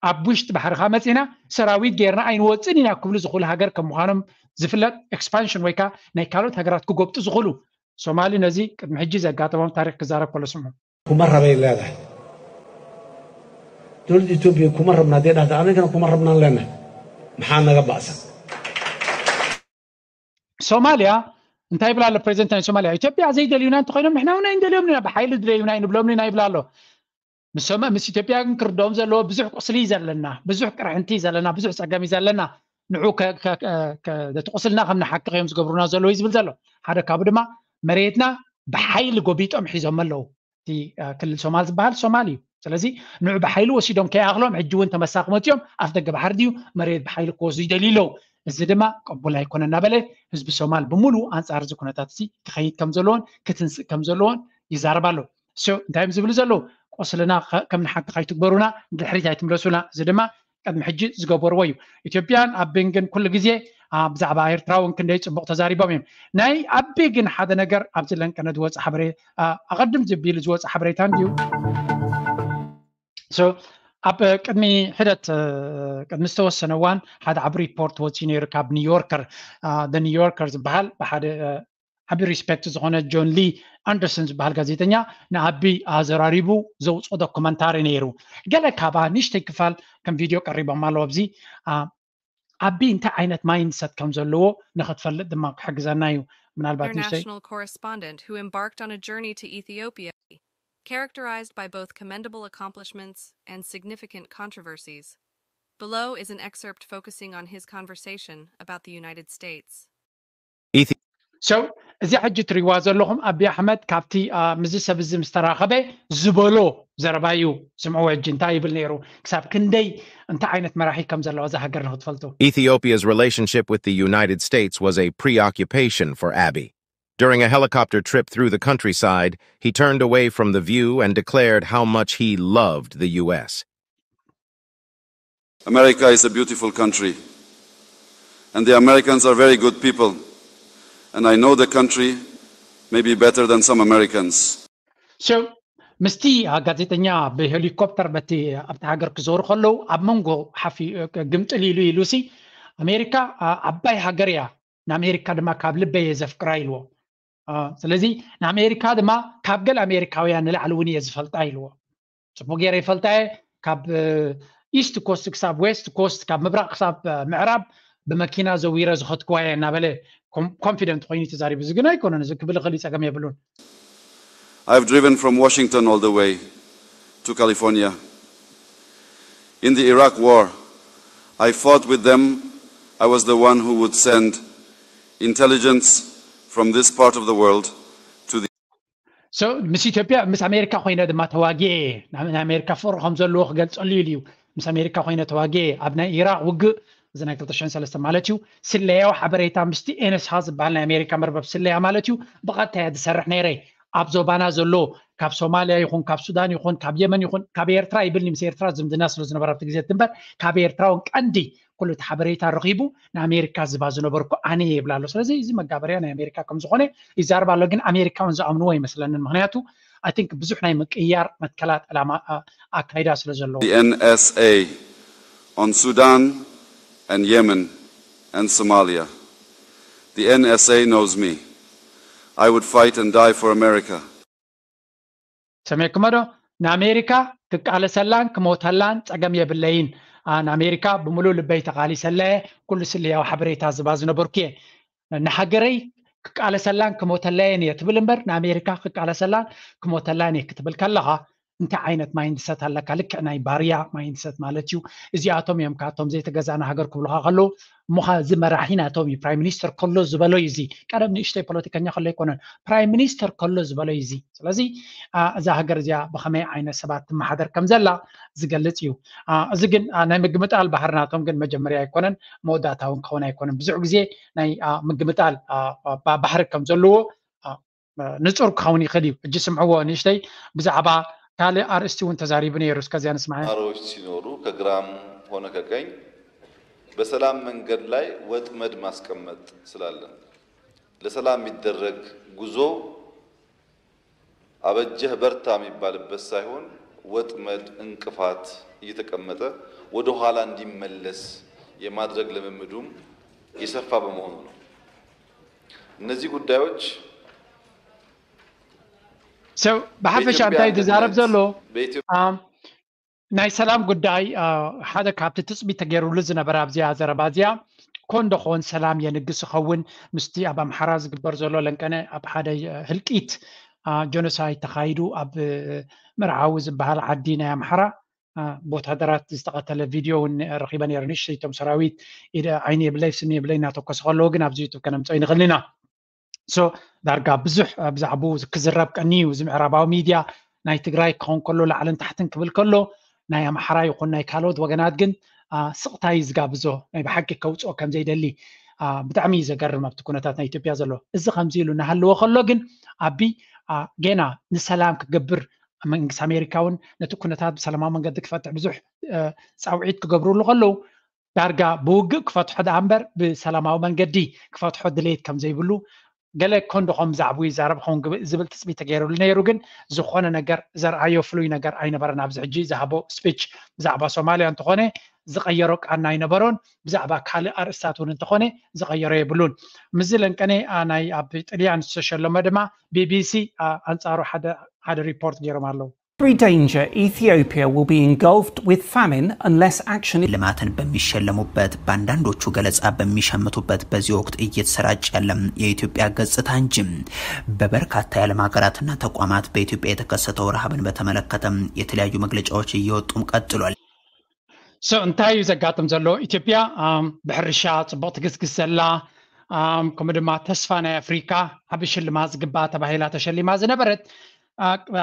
ኣብ ውሽጢ ባሕሪ ከዓ መፂና ሰራዊት ጌርና ኣይንወፅን ኢና ክብሉ ዝኽእሉ ሃገር ከም ምዃኖም ዝፍለጥ ኤክስፓንሽን ወይ ከዓ ናይ ካልኦት ሃገራት ክጎብጡ ዝኽእሉ ሶማሊ ነዚ ቅድሚ ሕጂ ዘጋጠሞም ታሪክ ክዛረብ ከሎ ስምዑ። kuma rabay leedahay dowladda etoobiya kuma rabna haddee dhahda anigana kuma rabnaan leenahay maxaa naga ba'san ሶማሊያ እንታይ ይብላ ኣሎ ፕሬዚደንት ናይ ሶማሊያ ኢትዮጵያ ዘይደልዩና እንተኮይኖም ንሕና እውን ኣይንደልዮም ኢና ብሓይሊ ድለዩና ኣይንብሎም ኢና ይብላ ኣሎ ምስ ኢትዮጵያ ግን ክርድኦም ዘለዎ ብዙሕ ቁስሊ እዩ ዘለና ብዙሕ ቅርሕንቲ እዩ ዘለና ብዙሕ ፀገም እዩ ዘለና ንዑ ነቲ ቁስልና ከም ንሓክኽ እዮም ዝገብሩና ዘለዉ እዩ ዝብል ዘሎ ሓደ ካብኡ ድማ መሬትና ብሓይሊ ጎቢጦም ሒዞም ኣለዉ እቲ ክልል ሶማል ዝበሃል ሶማል እዩ ስለዚ ንዑ ብሓይሊ ወሲዶም ከይኣኽሎም ሕጂ እውን ተመሳኽመት እዮም ኣፍ ደገ ባሕሪ ድዩ መሬት ብሓይሊ ክወስዱ ይደልዩ ኣለዉ እዚ ድማ ቅቡል ኣይኮነ እናበለ ህዝቢ ሶማል ብምሉእ ኣንፃር እዚ ኩነታት እዚ ክኸይድ ከም ዘለዎን ክትንስእ ከም ዘለዎን ይዛረብ ኣሎ እንታይ እዮም ዝብሉ ዘለዉ ቁስልና ከም ንሓክኽ ኣይትግበሩና ንድሕሪት ኣይትምለሱና እዚ ድማ ቅድሚ ሕጂ ዝገበርዎ እዩ ኢትዮጵያን ኣቢን ግን ኩሉ ግዜ ብዛዕባ ኤርትራ እውን ክንደይ ፅቡቅ ተዛሪቦም እዮም ናይ ኣቢ ግን ሓደ ነገር ኣብዚ ለንቀነ ዝወፅ ሓበሬ ኣቐድም ዝቢሉ ዝወፅ ሓበሬታ እንድዩ ኣብ ቅድሚ ሕደት ቅድሚ ዝተወሰነ እዋን ሓደ ዓብ ሪፖርት ወፅዩ ነይሩ ካብ ኒውዮርከር ኒውዮርከር ዝበሃል ብሓደ ዓቢ ሪስፔክት ዝኾነ ጆን ሊ ኣንደርሰን ዝበሃል ጋዜጠኛ ንኣቢ ኣዘራሪቡ ዘውፅኦ ዶክመንታሪ ነይሩ ገለ ካባ ንሽተይ ክፋል ከም ቪድዮ ቀሪቦም ኣለዉ ኣብዚ ኣቢ እንታይ ዓይነት ማይንድሰት ከም ዘለዎ ንክትፈልጥ ድማ ክሕግዘና እዩ ምናልባት ንሽተይ correspondent who embarked on a journey to Ethiopia characterized by both commendable accomplishments and significant controversies. Below is an excerpt focusing on his conversation about the United States. Ethi- so እዚ ሕጂ ትሪዋ ዘለኹም ኣቢ ኣሕመድ ካብቲ ምስዚ ሰብ እዚ ምስ ተራኸበ ዝበሎ ዘረባ እዩ። ስምዕዎ ሕጂ እንታይ ይብል ነይሩ፣ ክሳብ ክንደይ እንታይ ዓይነት መራሒ ከም ዘለዎ እዛ ሃገር ንክትፈልጡ። Ethiopia's relationship with the United States was a preoccupation for Abiy. During a helicopter trip through the countryside, he turned away from the view and declared how much he loved the U S. America is a beautiful country, and the Americans are very good people, and I know the country maybe better than some Americans. So ምስቲ ጋዜጠኛ ብሄሊኮፕተር በቲ ኣብቲ ሃገር ክዞሩ ከለዉ ኣብ መንጎ ሓፊ ግምጥል ኢሉ ኢሉሲ ኣሜሪካ ዓባይ ሃገር እያ፣ ንኣሜሪካ ድማ ካብ ልበይ እየ ዘፍቅራ ኢልዎ። ስለዚ ንኣሜሪካ ድማ ካብ ገለ ኣሜሪካውያን ንላዕሊ እውን እየ ዝፈልጣ ኢልዎ። ጽቡቅ ገይረ ይፈልጣ እየ፣ ካብ ኢስት ኮስት ክሳብ ዌስት ኮስት፣ ካብ ምብራቅ ክሳብ ምዕራብ ብመኪና ዘዊረ ዝኸድክዋ እየ እናበለ ኮንፊደንት ኮይኑ ተዛሪቡ። እዚ ግን ኣይኮነን፣ እዚ ክብል ይኽእል እዩ፣ ጸገም የብሉን። I've driven from Washington all the way to California. In the Iraq war, I fought with them. I was the one who would send intelligence from this part of the world to the So ምስ ኢትዮጵያ ምስ ኣሜሪካ ኮይነ ድማ ተዋጊኤ እየ። ናይ ኣሜሪካ ፍቅሪ ከም ዘለዎ ክገልጸሉ ኢሉ እዩ። ምስ ኣሜሪካ ኮይነ ተዋጊኤ እየ። ኣብ ናይ ኢራቅ ውግእ፣ እዚ ናይ ክልተ ሽሕን ሰለስተን ማለት እዩ፣ ስለያዊ ሓበሬታ ምስቲ ኤንኤስሃ ዝበሃል ናይ ኣሜሪካ መርበብ ስለያ ማለት እዩ ብቐጥታ እየ ዝሰርሕ ነይረ። ኣብ ዞባና ዘሎ ካብ ሶማልያ ይኹን ካብ ሱዳን ይኹን ካብ የመን ይኹን ካብ ኤርትራ ይብል፣ ምስ ኤርትራ ዝምድና ስለ ዝነበረ ኣብቲ ግዜ እምበር ካብ ኤርትራ እውን ቀንዲ ኩሉ እቲ ሓበሬታ ረኺቡ ንኣሜሪካ ዝባ ዝነበርኩ ኣነ እየ ይብል ኣሎ። ስለዚ እዚ መጋበርያ ናይ ኣሜሪካ ከም ዝኾነ ይዛረብ ኣሎ፣ ግን ኣሜሪካውን ዝኣምንዎ ኣይመስለንን። ምክንያቱ I think ብዙሕ ናይ ምቅያር መትከላት ዕላማ ኣካይዳ ስለ ዘለዎ። The N S A on Sudan and Yemen and Somalia. The N S A knows me. I would fight and die for America. ሰሜክመዶ ንኣሜሪካ ክቃለሰላን ክሞተላን ጸገም የብለይን። ንኣሜሪካ ብምሉእ ልበይ ተቃሊሰለየ፣ ኩሉ ስለያዊ ሓበሬታ ዝባ ዝነበርኩ እየ። ንሃገረይ ክቃለሰላን ክሞተለየን እየ ትብል እምበር ንኣሜሪካ ክቃለሰላን ክሞተላን እየ ክትብል ከለኻ እንታይ ዓይነት ማይንድሰት ኣለካ? ልክዕ ናይ ባርያ ማይንድሰት ማለት እዩ። እዚኣቶም እዮም ካቶም ዘይተገዛእና ሃገር ክብሉካ ከለዉ እሞኻ እዚ መራሒ ናቶም እዩ። ፕራይም ሚኒስተር ከሎ ዝበሎ እዩ። እዚ ቀደም ንእሽተይ ፖለቲከኛ ከሎ ኣይኮነን፣ ፕራይም ሚኒስተር ከሎ ዝበሎ እዩ። እዚ ስለዚ እዛ ሃገር እዚኣ ብኸመይ ዓይነት ሰባት ትመሓደር ከም ዘላ ዝገልጽ እዩ። እዚ ግን ናይ ምግምጣል ባህሪ ናቶም ግን መጀመርያ ኣይኮነን፣ መወዳእታ እውን ክኸውን ኣይኮነን። ብዙሕ ግዜ ናይ ምግምጣል ባህሪ ከም ዘለዎ ንጹር ክኸውን ይኽእል እዩ። ሕጂ ስምዕዎ ንእሽተይ፣ ብዛዕባ ካልእ ኣርእስቲ እውን ተዛሪቡ ነይሩ። እስከዚያ ንስማዕ። ተማሪዎች ሲኖሩ ከግራም ሆነ ከቀኝ በሰላም መንገድ ላይ ወጥመድ ማስቀመጥ ስላለን ለሰላም የሚደረግ ጉዞ አበጀህ በርታ የሚባልበት ሳይሆን ወጥመድ፣ እንቅፋት እየተቀመጠ ወደ ኋላ እንዲመለስ የማድረግ ልምምዱም የሰፋ በመሆኑ ነው። እነዚህ ጉዳዮች So ብሓፈሻ እንታይ ዝዛረብ ዘሎ ናይ ሰላም ጉዳይ ሓደ ካብቲ ትጽቢት ተገይሩሉ ዝነበረ ኣብዚኣ ዘረባ እዚኣ ኮን ዶ ኾን ሰላም የንግስ ይኸውን ምስቲ ኣብ ኣምሓራ ዝግበር ዘሎ ለንቀነ ኣብ ሓደ ህልቂት ጀኖሳይድ ተኻይዱ ኣብ መርዓዊ ዝበሃል ዓዲ ናይ ኣምሓራ ብወታደራት ዝተቐተለ ቪድዮ እውን ረኺበ ነይረ። ንእሽተይቶም ሰራዊት ዓይኒ የብለይ ስኒ የብለይ እናተኮሰ ከለዉ ግን ኣብዚ ዩቱብ ከነምፅኦ ይንኽእል ኢና። ሶ ዳርጋ ብዙሕ ብዛዕባኡ ክዝረብ ቀኒ እዩ። እዚ ምዕራባዊ ሚድያ ናይ ትግራይ ክኸውን ከሎ ላዕልን ታሕትን ክብል ከሎ ናይ ኣምሓራ ይኹን ናይ ካልኦት ወገናት ግን ስቕታ እዩ ዝጋብዞ፣ ናይ ብሓቂ ከውፅኦ ከም ዘይደሊ ብጣዕሚ እዩ ዘገርም ኣብቲ ኩነታት ናይ ኢትዮጵያ ዘሎ። እዚ ከምዚ ኢሉ እናሃለወ ከሎ ግን ኣቢ ጌና ንሰላም ክገብር መንግስቲ ኣሜሪካ እውን ነቲ ኩነታት ብሰላማዊ መንገዲ ክፈትሕ ብዙሕ ፃውዒት ክገብሩሉ ከለዉ ዳርጋ ብውግእ ክፈትሖ ደኣ እምበር ብሰላማዊ መንገዲ ክፈትሖ ድሌት ከም ዘይብሉ ገለ ኮንዶ ከም ብዛዕባኡ ይዛረብ ኸውን ዝብል ትፅቢት ተገይሩሉ ነይሩ። ግን ዝኾነ ነገር ዘርኣዮ ፍሉይ ነገር ኣይነበረን። ኣብዚ ሕጂ ዝሃቦ ስፒች ብዛዕባ ሶማልያ እንተኾነ ዝቐየሮ ቃና ኣይነበሮን። ብዛዕባ ካልእ ኣርእስታት እውን እንተኾነ ዝቐየሮ የብሉን። ምስዚ ለንቀነ ናይ ኣብ ጥልያን ዝተሸለመ ድማ ቢቢሲ ኣንጻሩ ሓደ ሓደ ሪፖርት ገይሮም ኣለዉ። Every danger, Ethiopia will be engulfed with famine unless action ልማትን በሚሸለሙበት በአንዳንዶቹ ገለጻ በሚሸምቱበት በዚህ ወቅት እየተሰራጨ ያለም የኢትዮጵያ ገጽታ እንጂ በበርካታ የዓለም ሀገራትና ተቋማት በኢትዮጵያ የተከሰተው ረሃብን በተመለከተም የተለያዩ መግለጫዎች እየወጡም ቀጥሏል። So እንታይ እዩ ዘጋጥም ዘሎ? ኢትዮጵያ ብሕርሻ ጽቡቕ ትግስግስ ዘላ ከምኡ ድማ ተስፋ ናይ ኣፍሪካ ዓቢ ሽልማት ዝግባኣ ተባሂላ ተሸሊማ ዝነበረት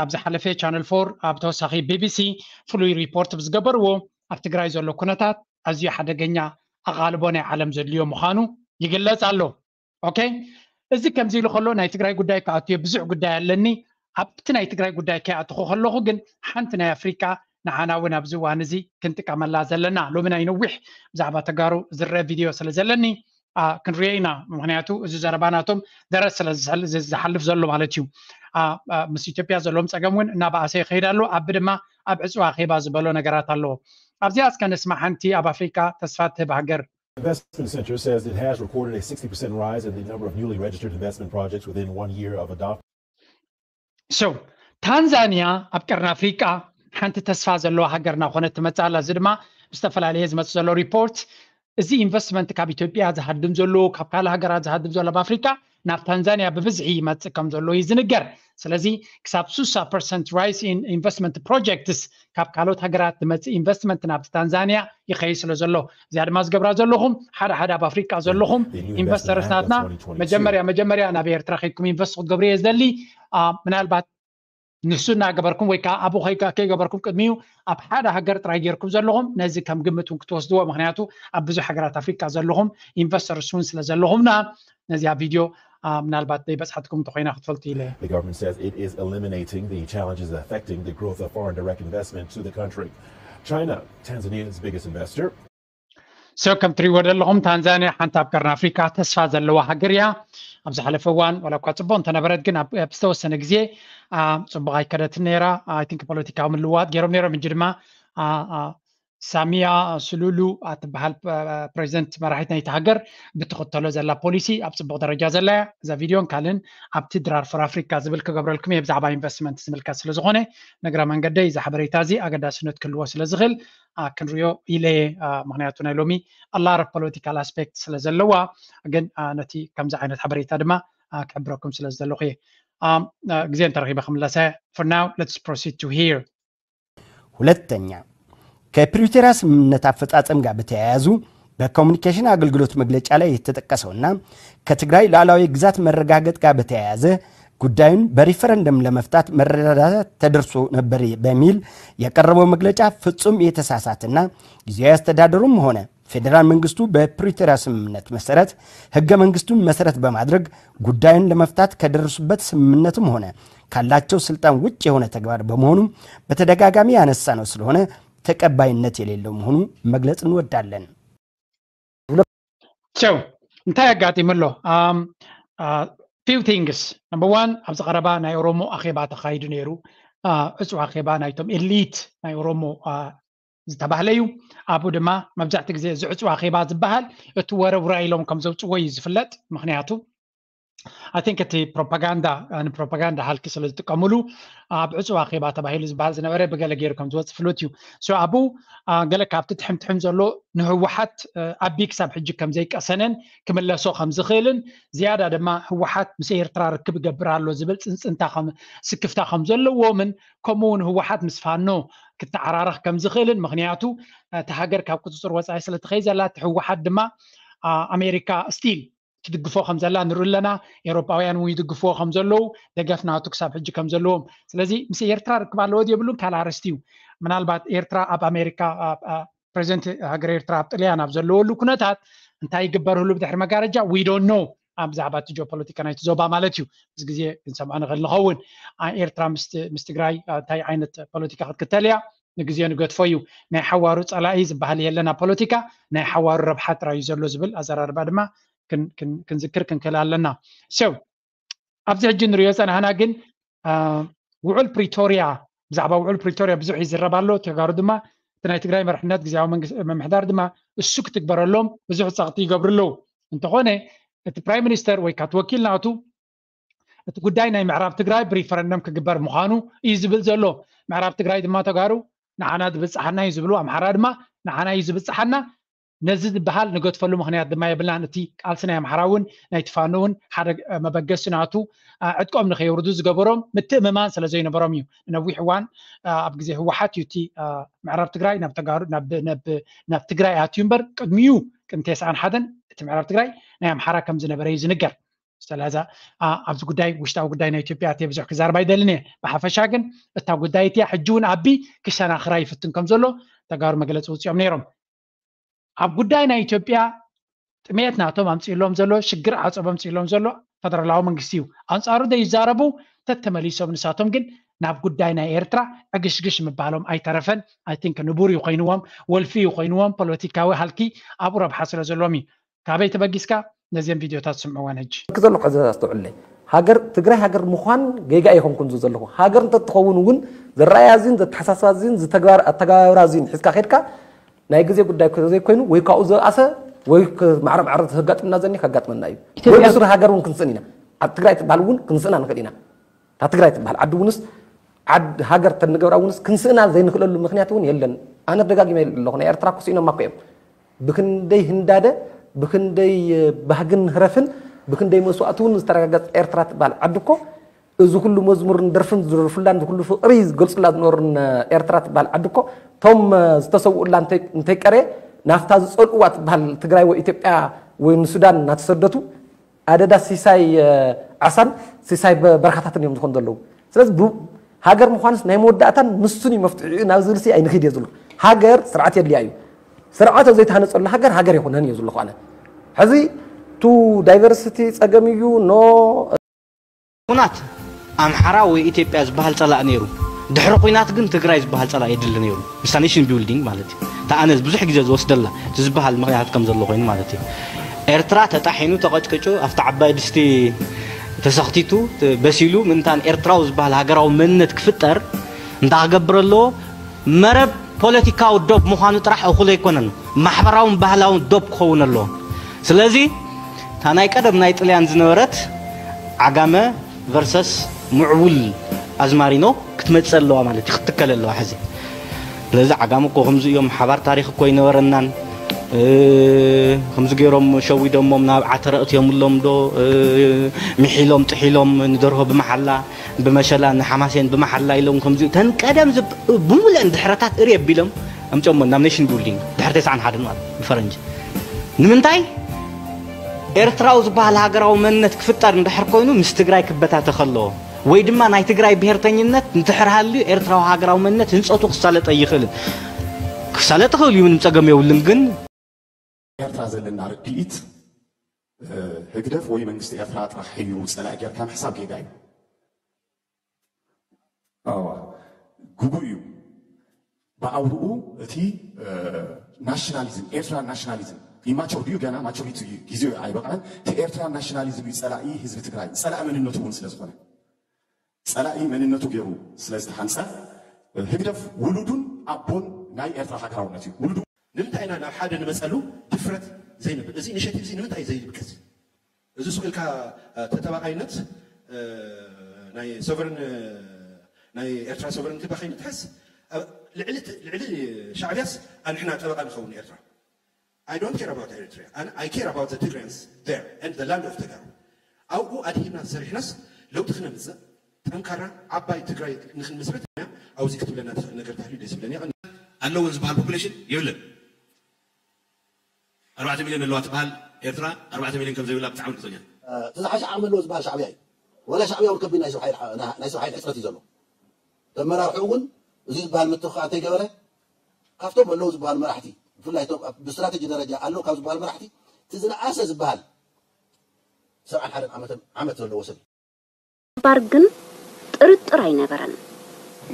ኣብ ዝሓለፈ ቻነል ፎር ኣብ ተወሳኺ ቢቢሲ ፍሉይ ሪፖርት ብዝገበርዎ ኣብ ትግራይ ዘሎ ኩነታት ኣዝዩ ሓደገኛ ኣቓልቦ ናይ ዓለም ዘድልዮ ምዃኑ ይግለጽ ኣሎ። ኦኬ፣ እዚ ከምዚ ኢሉ ከሎ ናይ ትግራይ ጉዳይ ክኣትዮ ብዙሕ ጉዳይ ኣለኒ። ኣብቲ ናይ ትግራይ ጉዳይ ከይኣትኹ ከለኹ ግን ሓንቲ ናይ ኣፍሪካ ንዓና እውን ኣብዚ እዋን እዚ ክንጥቀመላ ዘለና ሎሚ ናይ ነዊሕ ብዛዕባ ተጋሩ ዝረአ ቪድዮ ስለ ዘለኒ ክንሪኦ ኢና። ምክንያቱ እዚ ዘረባ ናቶም ደረት ስለ ዝሓልፍ ዘሎ ማለት እዩ። ምስ ኢትዮጵያ ዘለዎም ፀገም እውን እናበኣሰ ይኸይድ ኣሎ። ኣቢ ድማ ኣብ ዕፅዋ ኣኼባ ዝበሎ ነገራት ኣለዎ። ኣብዚኣ እስከ ንስማዕ። ሓንቲ ኣብ ኣፍሪካ ተስፋ ትህብ ሃገር Investment Center says it has recorded a sixty percent rise in the number of newly registered investment projects within one year of adopting. So ታንዛንያ ኣብ ቀርኒ ኣፍሪቃ ሓንቲ ተስፋ ዘለዋ ሃገር እናኾነት ትመፅእ ኣላ። እዚ ድማ ዝተፈላለየ ዝመፅእ ዘሎ ሪፖርት እዚ ኢንቨስትመንት ካብ ኢትዮጵያ ዝሃድም ዘሎ ካብ ካልእ ሃገራት ዝሃድም ዘሎ ኣብ ኣፍሪቃ ናብ ታንዛንያ ብብዝሒ ይመፅእ ከም ዘሎ እዩ ዝንገር። ስለዚ ክሳብ ስሳ ፐርሰንት ራይስ ኢን ኢንቨስትመንት ፕሮጀክትስ ካብ ካልኦት ሃገራት ዝመፅእ ኢንቨስትመንት ናብቲ ታንዛንያ ይኸይድ ስለ ዘሎ እዚኣ ድማ ዝገብራ ዘለኹም ሓደ ሓደ ኣብ ኣፍሪቃ ዘለኹም ኢንቨስተርስ ናትና መጀመርያ መጀመርያ ናብ ኤርትራ ከይድኩም ኢንቨስት ክትገብሩ እየ ዝደሊ። ምናልባት ንሱ እናገበርኩም ወይ ከዓ ኣብኡ ከይገበርኩም ቅድሚኡ ኣብ ሓደ ሃገር ጥራይ ጌርኩም ዘለኹም ነዚ ከም ግምት እውን ክትወስድዎ። ምክንያቱ ኣብ ብዙሕ ሃገራት ኣፍሪቃ ዘለኹም ኢንቨስተርስ እውን ስለ ዘለኹምና ነዚኣ ቪድዮ ምናልባት ዘይበፅሓትኩም እንተኮይና ክትፈልጡ ኢለ። The government says it is eliminating the challenges affecting the growth of foreign direct investment to the country. China, Tanzania's biggest investor, So ከም ትሪእዎ ዘለኹም ታንዛንያ ሓንቲ ኣብ ቀርኒ ኣፍሪካ ተስፋ ዘለዋ ሃገር እያ። ኣብ ዝሓለፈ እዋን ዋላ እኳ ፅቡቅ እንተነበረት ግን ኣብ ዝተወሰነ ግዜ ፅቡቅ ኣይከደትን ነይራ። I think ፖለቲካዊ ምልውዋጥ ገይሮም ነይሮም። ሕጂ ድማ ሳሚያ ሱሉሉ ኣትበሃል ፕሬዚደንት መራሒት ናይቲ ሃገር ብትኽተሎ ዘላ ፖሊሲ ኣብ ፅቡቅ ደረጃ ዘላ እያ። እዛ ቪድዮን ካልእን ኣብቲ ድራር ፎር ኣፍሪካ ዝብል ክገብረልኩም እየ ብዛዕባ ኢንቨስትመንት ዝምልከት ስለዝኾነ ንግረ መንገደይ እዚ ሓበሬታ እዚ ኣገዳስነት ክህልዎ ስለዝኽእል ክንሪኦ ኢለ እየ። ምክንያቱ ናይ ሎሚ ኣላር ፖለቲካል ኣስፔክት ስለዘለዋ ግን ነቲ ከምዚ ዓይነት ሓበሬታ ድማ ክሕብረኩም ስለዝደለኹ እየ። ግዜ እንተረኺበ ክምለሰ። For now let's proceed to hear. ሁለተኛ ከፕሪቶሪያ ስምምነት አፈጻጸም ጋር በተያያዙ በኮሚኒኬሽን አገልግሎት መግለጫ ላይ የተጠቀሰውና ከትግራይ ሉዓላዊ ግዛት መረጋገጥ ጋር በተያያዘ ጉዳዩን በሪፈረንደም ለመፍታት መረዳዳት ተደርሶ ነበር በሚል የቀረበው መግለጫ ፍጹም የተሳሳተና ጊዜያዊ አስተዳደሩም ሆነ ፌዴራል መንግስቱ በፕሪቶሪያ ስምምነት መሰረት ህገ መንግስቱን መሰረት በማድረግ ጉዳዩን ለመፍታት ከደረሱበት ስምምነትም ሆነ ካላቸው ስልጣን ውጭ የሆነ ተግባር በመሆኑ በተደጋጋሚ ያነሳ ነው ስለሆነ ተቀባይነት የሌለው መሆኑ መግለጽ እንወዳለን። So እንታይ ኣጋጢሙ ኣሎ? Few things. Number one ኣብዚ ቀረባ ናይ ኦሮሞ ኣኼባ ተኻይዱ ነይሩ። ዕፁ ኣኼባ ናይቶም ኤሊት ናይ ኦሮሞ ዝተባህለ እዩ። ኣብኡ ድማ መብዛሕትኡ ግዜ እዚ ዕፁ ኣኼባ ዝበሃል እቲ ወረ ውራ ኢሎም ከም ዘውፅዎ እዩ ዝፍለጥ። ምክንያቱ I think እቲ ፕሮፓጋንዳ ንፕሮፓጋንዳ ሃልኪ ስለ ዝጥቀምሉ ኣብ ዕፁ ኣኼባ ተባሂሉ ዝበሃል ዝነበረ ብገለ ገይሩ ከም ዝወፅእ ፍሉጥ እዩ። So ኣብኡ ገለ ካብቲ ትሕምትሕም ዘሎ ንህወሓት ኣቢ ክሳብ ሕጂ ከም ዘይቀሰነን ክምለሶ ከም ዝኽእልን ዝያዳ ድማ ህወሓት ምስ ኤርትራ ርክብ ይገብር ኣሎ ዝብል ፅንፅንታ ስክፍታ ከም ዘለዎምን ከምኡ እውን ህወሓት ምስ ፋኖ ክተዓራረኽ ከም ዝኽእልን ምክንያቱ እቲ ሃገር ካብ ቁፅፅር ወፃኢ ስለትኸይ ዘላ እቲ ህወሓት ድማ ኣሜሪካ ስቲል ትድግፎ ከም ዘላ ንርኢ ኣለና። ኤውሮጳውያን እውን ይድግፍዎ ከም ዘለዉ ደገፍ ናቱ ክሳብ ሕጂ ከም ዘለዎም። ስለዚ ምስ ኤርትራ ርክብ ኣለዎ የብሉን ካልእ ኣርእስቲ እዩ። ምናልባት ኤርትራ ኣብ ኣሜሪካ ፕሬዚደንት ሃገር ኤርትራ ኣብ ጥልያን ኣብ ዘለወሉ ኩነታት እንታይ ይግበር ህሉ ብድሕሪ መጋረጃ we don't know። ኣብ ብዛዕባ እቲ ጂኦፖለቲካ ናይቲ ዞባ ማለት እዩ። ምስ ግዜ ክንሰምዖ ንኽእል ንኸውን። ኤርትራ ምስ ትግራይ እንታይ ዓይነት ፖለቲካ ክትክተል እያ ንግዜ ንገድፎ እዩ። ናይ ሓዋሩ ፀላኢ ዝበሃል የለን ኣብ ፖለቲካ ናይ ሓዋሩ ረብሓ ጥራይ እዩ ዘሎ ዝብል ኣዘራርባ ድማ ክንዝክር ክንክእል ኣለና። So ኣብዚ ሕጂ ንሪኦ ፀናህና ግን ውዑል ፕሪቶሪያ ብዛዕባ ውዑል ፕሪቶሪያ ብዙሕ ይዝረብ ኣሎ። ተጋሩ ድማ እቲ ናይ ትግራይ መርሕነት ግዜያዊ ምምሕዳር ድማ እሱ ክትግበረሎም ብዙሕ ፀቕጢ ይገብሩ ኣለዉ። እንተኾነ እቲ ፕራይም ሚኒስተር ወይ ካቲ ወኪል ናቱ እቲ ጉዳይ ናይ ምዕራብ ትግራይ ብሪፈረንደም ክግበር ምዃኑ እዩ ዝብል ዘሎ። ምዕራብ ትግራይ ድማ ተጋሩ ንዓና ዝብፅሓና እዩ ዝብሉ፣ ኣምሓራ ድማ ንዓና እዩ ዝብፅሓና። ነዚ ዝበሃል ንገድፈሉ ምኽንያት ድማ የብልናን። እቲ ቃልሲ ናይ ኣምሓራ እውን ናይ ትፋኖ እውን ሓደ መበገሲ ናቱ ዕጥቆም ንኸየውርዱ ዝገበሮም ምትእምማን ስለ ዘይነበሮም እዩ። ንነዊሕ እዋን ኣብ ግዜ ህወሓት እዩ እቲ ምዕራብ ትግራይ ናብ ተጋሩ ናብ ትግራይ ኣትዩ እምበር ቅድሚኡ ቅድሚ ተስዓን ሓደን እቲ ምዕራብ ትግራይ ናይ ኣምሓራ ከም ዝነበረ እዩ ዝንገር። ስለዚ ኣብዚ ጉዳይ፣ ውሽጣዊ ጉዳይ ናይ ኢትዮጵያ እየ ብዙሕ ክዛረብ ኣይደልን እየ። ብሓፈሻ ግን እታ ጉዳይ እቲያ ሕጂ እውን ኣቢ ክሸናኽራ ይፍትን ከም ዘሎ ተጋሩ መግለፂ ውፅኦም ነይሮም። ኣብ ጉዳይ ናይ ኢትዮጵያ ጥሜት ናቶም ኣምፅእሎም ዘሎ፣ ሽግር ዓፀቦ ኣምፅእሎም ዘሎ ፈደራላዊ መንግስቲ እዩ። ኣንፃሩ ዘይዛረቡ ተተመሊሶም፣ ንሳቶም ግን ናብ ጉዳይ ናይ ኤርትራ ዕግሽግሽ ምባሎም ኣይተረፈን። ኣይ ቲንክ ንቡር እዩ ኮይንዎም፣ ወልፊ እዩ ኮይንዎም። ፖለቲካዊ ሃልኪ ኣብኡ ረብሓ ስለ ዘለዎም እዩ። ካበይ ተበጊስካ ነዚኦም ቪድዮታት ስምዕወን። ሕጂ ክዘሎ ከዘ ኣስተውዕለይ፣ ሃገር ትግራይ ሃገር ምዃን ጌጋ ኣይኮንኩን ዝ ዘለኹ። ሃገር እንተትኸውን እውን ዘረኣያ እዚን ዘተሓሳስባ እዚን ዝተግባር ኣተገባብራ እዚን ሒዝካ ከድካ ናይ ግዜ ጉዳይ ዘይኮይኑ ወይ ካብኡ ዘብኣሰ ወይ ማዕረ ማዕረ ዘጋጥምና ዘኒ ከጋጥመና እዩ። ወይ ብስሩ ሃገር እውን ክንስእን ኢና። ኣብ ትግራይ ትበሃል እውን ክንስእና ንኽእል ኢና። እታ ትግራይ ትበሃል ዓዲ እውንስ ዓድ ሃገር ተንገብራ እውንስ ክንስእና ዘይንኽእለሉ ምክንያት እውን የለን። ኣነ ደጋጊመ ኣለኹ፣ ናይ ኤርትራ እኮ ስኢኖማ እኮ እዮም። ብክንደይ ህንዳደ፣ ብክንደይ ባህግን ህረፍን፣ ብክንደይ መስዋእቲ እውን ዝተረጋገፀ ኤርትራ ትበሃል ዓዲ እኮ፣ እዚ ኩሉ መዝሙርን ደርፍን ዝደርፉላን፣ እዚ ኩሉ ፍቕሪ ዝገልፁላ ዝነበሩን ኤርትራ ትበሃል ዓዲ እኮ፣ እቶም ዝተሰውኡላ እንተይ- እንተይቀረየ ናብታ ዝፀልእዋ ትበሃል ትግራይ ወይ ኢትዮጵያ ወይ ንሱዳን እናተሰደቱ ኣደዳ ሲሳይ ዓሳን ሲሳይ በረካታትን እዮም ዝኾኑ ዘለዉ። ስለዚ ሃገር ምዃንስ ናይ መወዳእታን ንሱን እዩ መፍትሒኡ ናብ ዝብልሲ ኣይንኺድ እየ ዝብሉ። ሃገር ስርዓት የድልያ እዩ። ስርዓት ኣብ ዘይተሃነፀሉ ሃገር ሃገር ኣይኮነን እየ ዝብሉ ኣነ። ሕዚ ቱ ዳይቨርሲቲ ፀገም እዩ ኖ ኩናት ኣምሓራ ወይ ኢትዮጵያ ዝበሃል ፀላእ ነይሩ። ድሕሪ ኩናት ግን ትግራይ ዝበሃል ፀላእ የድሊ ነይሩ። ምስታ ኔሽን ቢልዲንግ ማለት እዩ። እታ ኣነ ብዙሕ ግዜ ዝወስደላ እቲ ዝበሃል ምኽንያት ከም ዘሎ ኮይኑ ማለት እዩ። ኤርትራ ተጣሒኑ ተቐጭቂጩ ኣብቲ ዓባይ ድስቲ ተሰኽቲቱ በሲሉ ምእንታን ኤርትራዊ ዝበሃል ሃገራዊ መንነት ክፍጠር እንታይ ክገብር ኣለዎ? መረብ ፖለቲካዊ ዶብ ምዃኑ ጥራሕ እኹል ኣይኮነን፣ ማሕበራውን ባህላውን ዶብ ክኸውን ኣለዎ። ስለዚ እታ ናይ ቀደም ናይ ጥልያን ዝነበረት ዓጋመ ቨርሰስ ምዕቡል ኣዝማሪኖ ክትመፅእ ኣለዋ ማለት እዩ፣ ክትትከል ኣለዋ ሕዚ። ስለዚ ዓጋመ እኮ ከምዚ እዮም፣ ሓባር ታሪክ እኮ ኣይነበረናን። ከምዚ ገይሮም ሸዊዶሞም ናብ ዓተረ እትዮምሎም ዶ ሚሒሎም ጥሒሎም ንደርሆ ብመሓላ ብመሸላ ንሓማሴን ብመሓላ ኢሎም ከምዚ ተን ቀደም ዝብ- ብሙሉአን ድሕረታት እሪ ኣቢሎም ኣምፅኦሞ ናብ ኔሽን ቢልዲንግ ድሕሪ ተስዓን ሓደን ማለት ብፈረንጂ። ንምንታይ? ኤርትራዊ ዝበሃል ሃገራዊ መንነት ክፍጠር እንድሕር ኮይኑ ምስ ትግራይ ክበታተኽ ኣለዎ፣ ወይ ድማ ናይ ትግራይ ብሄርተኝነት እንድሕር ሃልዩ ኤርትራዊ ሃገራዊ መንነት ህንፀቱ ክሳለጥ ኣይኽእልን። ክሳለጥ ይኽእል እዩ፣ ምንም ፀገም የብሉን። ግን ኤርትራ ዘለና ርድኢት ህግደፍ ወይ መንግስቲ ኤርትራ ጥራሕ እዩ ጸላኢ ጌርካ ምሕሳብ ጌጋ እዩ። ኣዋ ግቡእ እዩ። ብኣውርኡ እቲ ናሽናሊዝም ኤርትራ ናሽናሊዝም ኢማቹር ድዩ ገና ማቹሪቲ እዩ ግዜኡ ኣይበቕዐን። እቲ ኤርትራ ናሽናሊዝም እዩ ጸላኢ ህዝቢ ትግራይ ጸላኢ መንነቱ እውን ስለ ዝኾነ ጸላኢ መንነቱ ገይሩ ስለ ዝተሓንጸ ህግደፍ ውሉዱን ኣቦን ናይ ኤርትራ ሃገራውነት እዩ። ውሉዱ ንምንታይ ኢና ናብ ሓደ ንመፀሉ ድፍረት ዘይንብል? እዚ ኢኒሼቲቭ እዚ ንምንታይ እዩ ዘይድቅስ? እዚ ሱቕ ኢልካ ተጠባቓይነት ናይ ሶቨርን ናይ ኤርትራ ሶቨርንቲ ባኸይ ምትሓዝ ልዕሊ ሻዕብያስ ኣንሕና ጠበቓ ንኸውን ኤርትራ። I don't care about Eritrea. I care about the Tigrayans there and the land of Tegaru. ኣብኡ ኣድሂብና ሰሪሕናስ ለውጢ ክነምፅእ ጠንካራ ዓባይ ትግራይ ንክንምስርት እያ። ኣብዚ ክትብለና ትኽእል ነገር ተህልዩ ደስ ይብለኒ። ኣለውን ዝበሃል ፖፑሌሽን የብለን። ኣርባዕተ ሚልዮን ኣለዋ ትበሃል ኤርትራ ኣርባዕተ ሚልዮን ከም ዘይብላ ብጣዕሚ ርግፀኛ። እቲ ዝሓሸ ዓቕሚ ኣለዎ ዝበሃል ሻዕብያ እዩ። ዋላ ሻዕብያ እውን ከቢድ ናይ ሰብ ሓይሊ ናይ ሰብ ሓይሊ ሕፅረት እዩ ዘሎ። ተመራርሑ እውን እዚ ዝበሃል ምትኽኻእ እንተይገበረ ካብቶም ኣለዉ ዝበሃሉ መራሕቲ ብፍላይ እቶም ብስትራተጂ ደረጃ ኣለዉ ካብ ዝበሃሉ መራሕቲ እቲ ዝነኣሰ ዝበሃል ሰብዓን ሓደን ዓመት ዘለዎ ሰብ እዩ። ግንባር ግን ጥርጥር ኣይነበረን።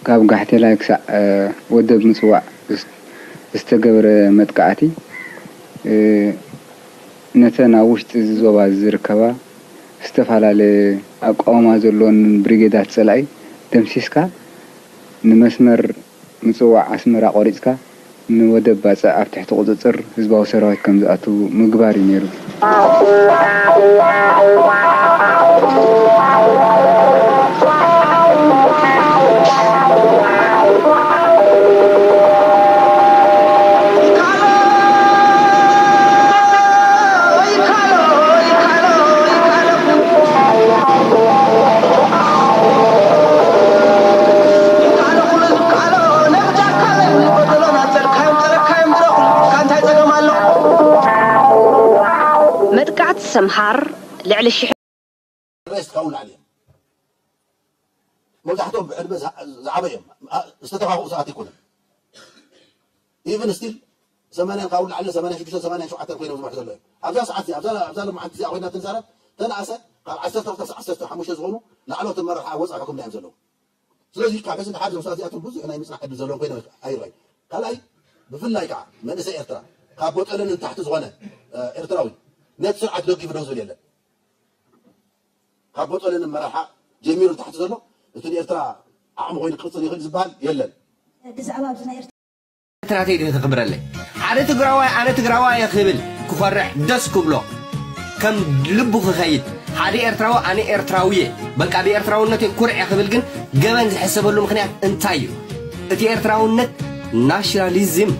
ካብ ጋሕቴላይ ክሳዕ ወደብ ምጽዋዕ ዝተገብረ መጥቃዕቲ ነተን ኣብ ውሽጢ እዚ ዞባ ዝርከባ ዝተፈላለየ ኣቃውማ ዘለወን ብሪጌዳት ጸላኢ ደምሲስካ ንመስመር ምጽዋዕ ኣስመራ ቆሪጽካ ንወደብ ባጽዕ ኣብ ትሕቲ ቁጽጽር ህዝባዊ ሰራዊት ከም ዝኣቱ ምግባር እዩ ነይሩ። ጥቃዕት ሰምሃር ልዕሊ ሽሕ ሬስት ካብኡ ንላዕሊ እዮም። መብዛሕትኦም ብዕድመ ዝዓበ እዮም። ዝተተኻኽኡ ሰዓት ኣይኮነን። ኢቨን ስቲል ሰማንያን ካብኡ ንላዕሊ ሰማንያን ሽዱሽተን ሰማንያን ሸውዓተን ኮይኖም ዝመርሑ ዘለዉ እዮም። ኣብዛ ሰዓት እዚኣ ኣብዛ ኣብዛ ሎማዓንቲ እዚኣ ኮይና ትንዛረብ ተነኣሰ ካብ ዓሰርተ ክልተ ክሳብ ዓሰርተ ሓሙሽተ ዝኾኑ ላዕለዎት ኣመራርሓ ኣብ ወፃኢ ሕክምና እዮም ዘለዉ። ስለዚ ካብ ሕዚ ንሓደ ዞም ሰባት እዚኣቶም ብዙሕ ናይ ምፅናሕ ዕድል ዘለዎም ኮይኖም ኣይረኣዩ። ካልኣይ ብፍላይ ከዓ መንእሰይ ኤርትራ ካብ ቦጠለኒ ንታሕቲ ዝኾነ ኤርትራዊ ነቲ ስርዓት ደጊፉ ደው ዝብል የለን። ካብ ቦጠለኒ ኣመራርሓ ጀሚሩ ንታሕቲ ዘሎ እቲ ንኤርትራ ዓቕሚ ኮይኑ ክቕፅል ይኽእል ዝበሃል የለን። ብዛዕባ ኣብዚ ናይ ኤርትራ ትናተይ ድዩ ክኽብረለይ? ሓደ ትግራዋይ ኣነ ትግራዋይ እየ ክብል ክኾርዕ ደስ ክብሎ ከም ልቡ ክኸይድ ሓደ ኤርትራዊ ኣነ ኤርትራዊ እየ በቃ ብኤርትራውነተይ ኩርዕ እየ ክብል ግን ገበን ዝሕሰበሉ ምኽንያት እንታይ እዩ? እቲ ኤርትራውነት ናሽናሊዝም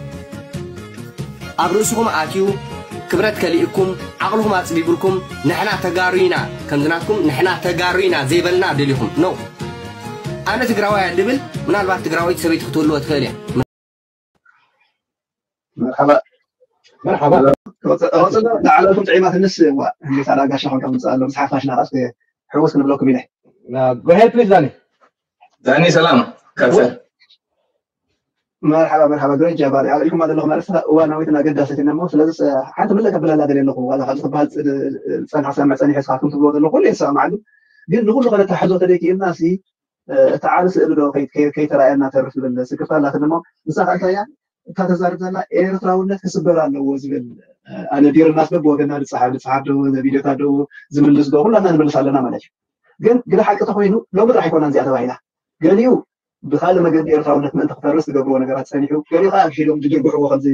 ኣብ ርእስኹም ኣትዩ ክብረት ከሊእኩም ዓቕልኹም ኣፅቢብልኩም ንሕና ተጋሩ ኢና ከምዚ ናትኩም ንሕና ተጋሩ ኢና ዘይበልና ደሊኹም ነው ኣነ ትግራዋይ እየ ድብል ምናልባት ትግራወይቲ ሰበይቲ ክትህልዎ ትኽእል እያ መርሓባ መርሓባ ላዕለቱም ጥዒማትንስ ዋ እንዴት ኣላ ጋሻ ኮንካ ምምፅእ ኣሎ ምስ ሓፋሽና ቃስ ሕውስ ክንብለኩም ኢለ Go ahead please ዳኒ ዳኒ ሰላም ከሰ መርሓባ መርሓባ ግሬት ጃባሪ ኣብ ኢልኩም ኣለኹ ማለት እዋናዊትን ኣገዳሲትን እሞ ስለዚ ሓንቲ ምልእ ከብለላ ደልየ ኣለኹ ዋላ ካብ ዝበሃል ፀንሓ ሰምዕ ፀኒሐ ስኻትኩም ትብሎ ዘለኹ ኩሉ የሰማዕሉ ግን ንኩሉ ከነተሓዞ ተደይክኢልና ሲ እቲ ዓቢ ስእሊ ዶ ከይተረኣየና ተርፍ ዝብል ስክፍታ ኣላትኒ እሞ ንሳ ከ እንታይ እያ እታ ተዛርብ ዘላ ኤርትራውነት ክስበር ኣለዎ ዝብል ኣነ ዲርናስ በብወገና ንጽሓፍ ንጽሓፍ ዶ ቪድዮታት ዶ ዝምልስ ዶ ኩላትና ንምልስ ኣለና ማለት እዩ ግን ግደ ሓቂ ተኮይኑ ሎሚ ጥራሕ ኣይኮናን እዚኣ ተባሂላ ገሊኡ ብካልእ መገዲ ኤርትራውነት ምእንቲ ክፈርስ ዝገብርዎ ነገራት ጸኒሑ ገሊኡ ከዓ ኣግሒዶም ዝድርግሕዎ ከምዚ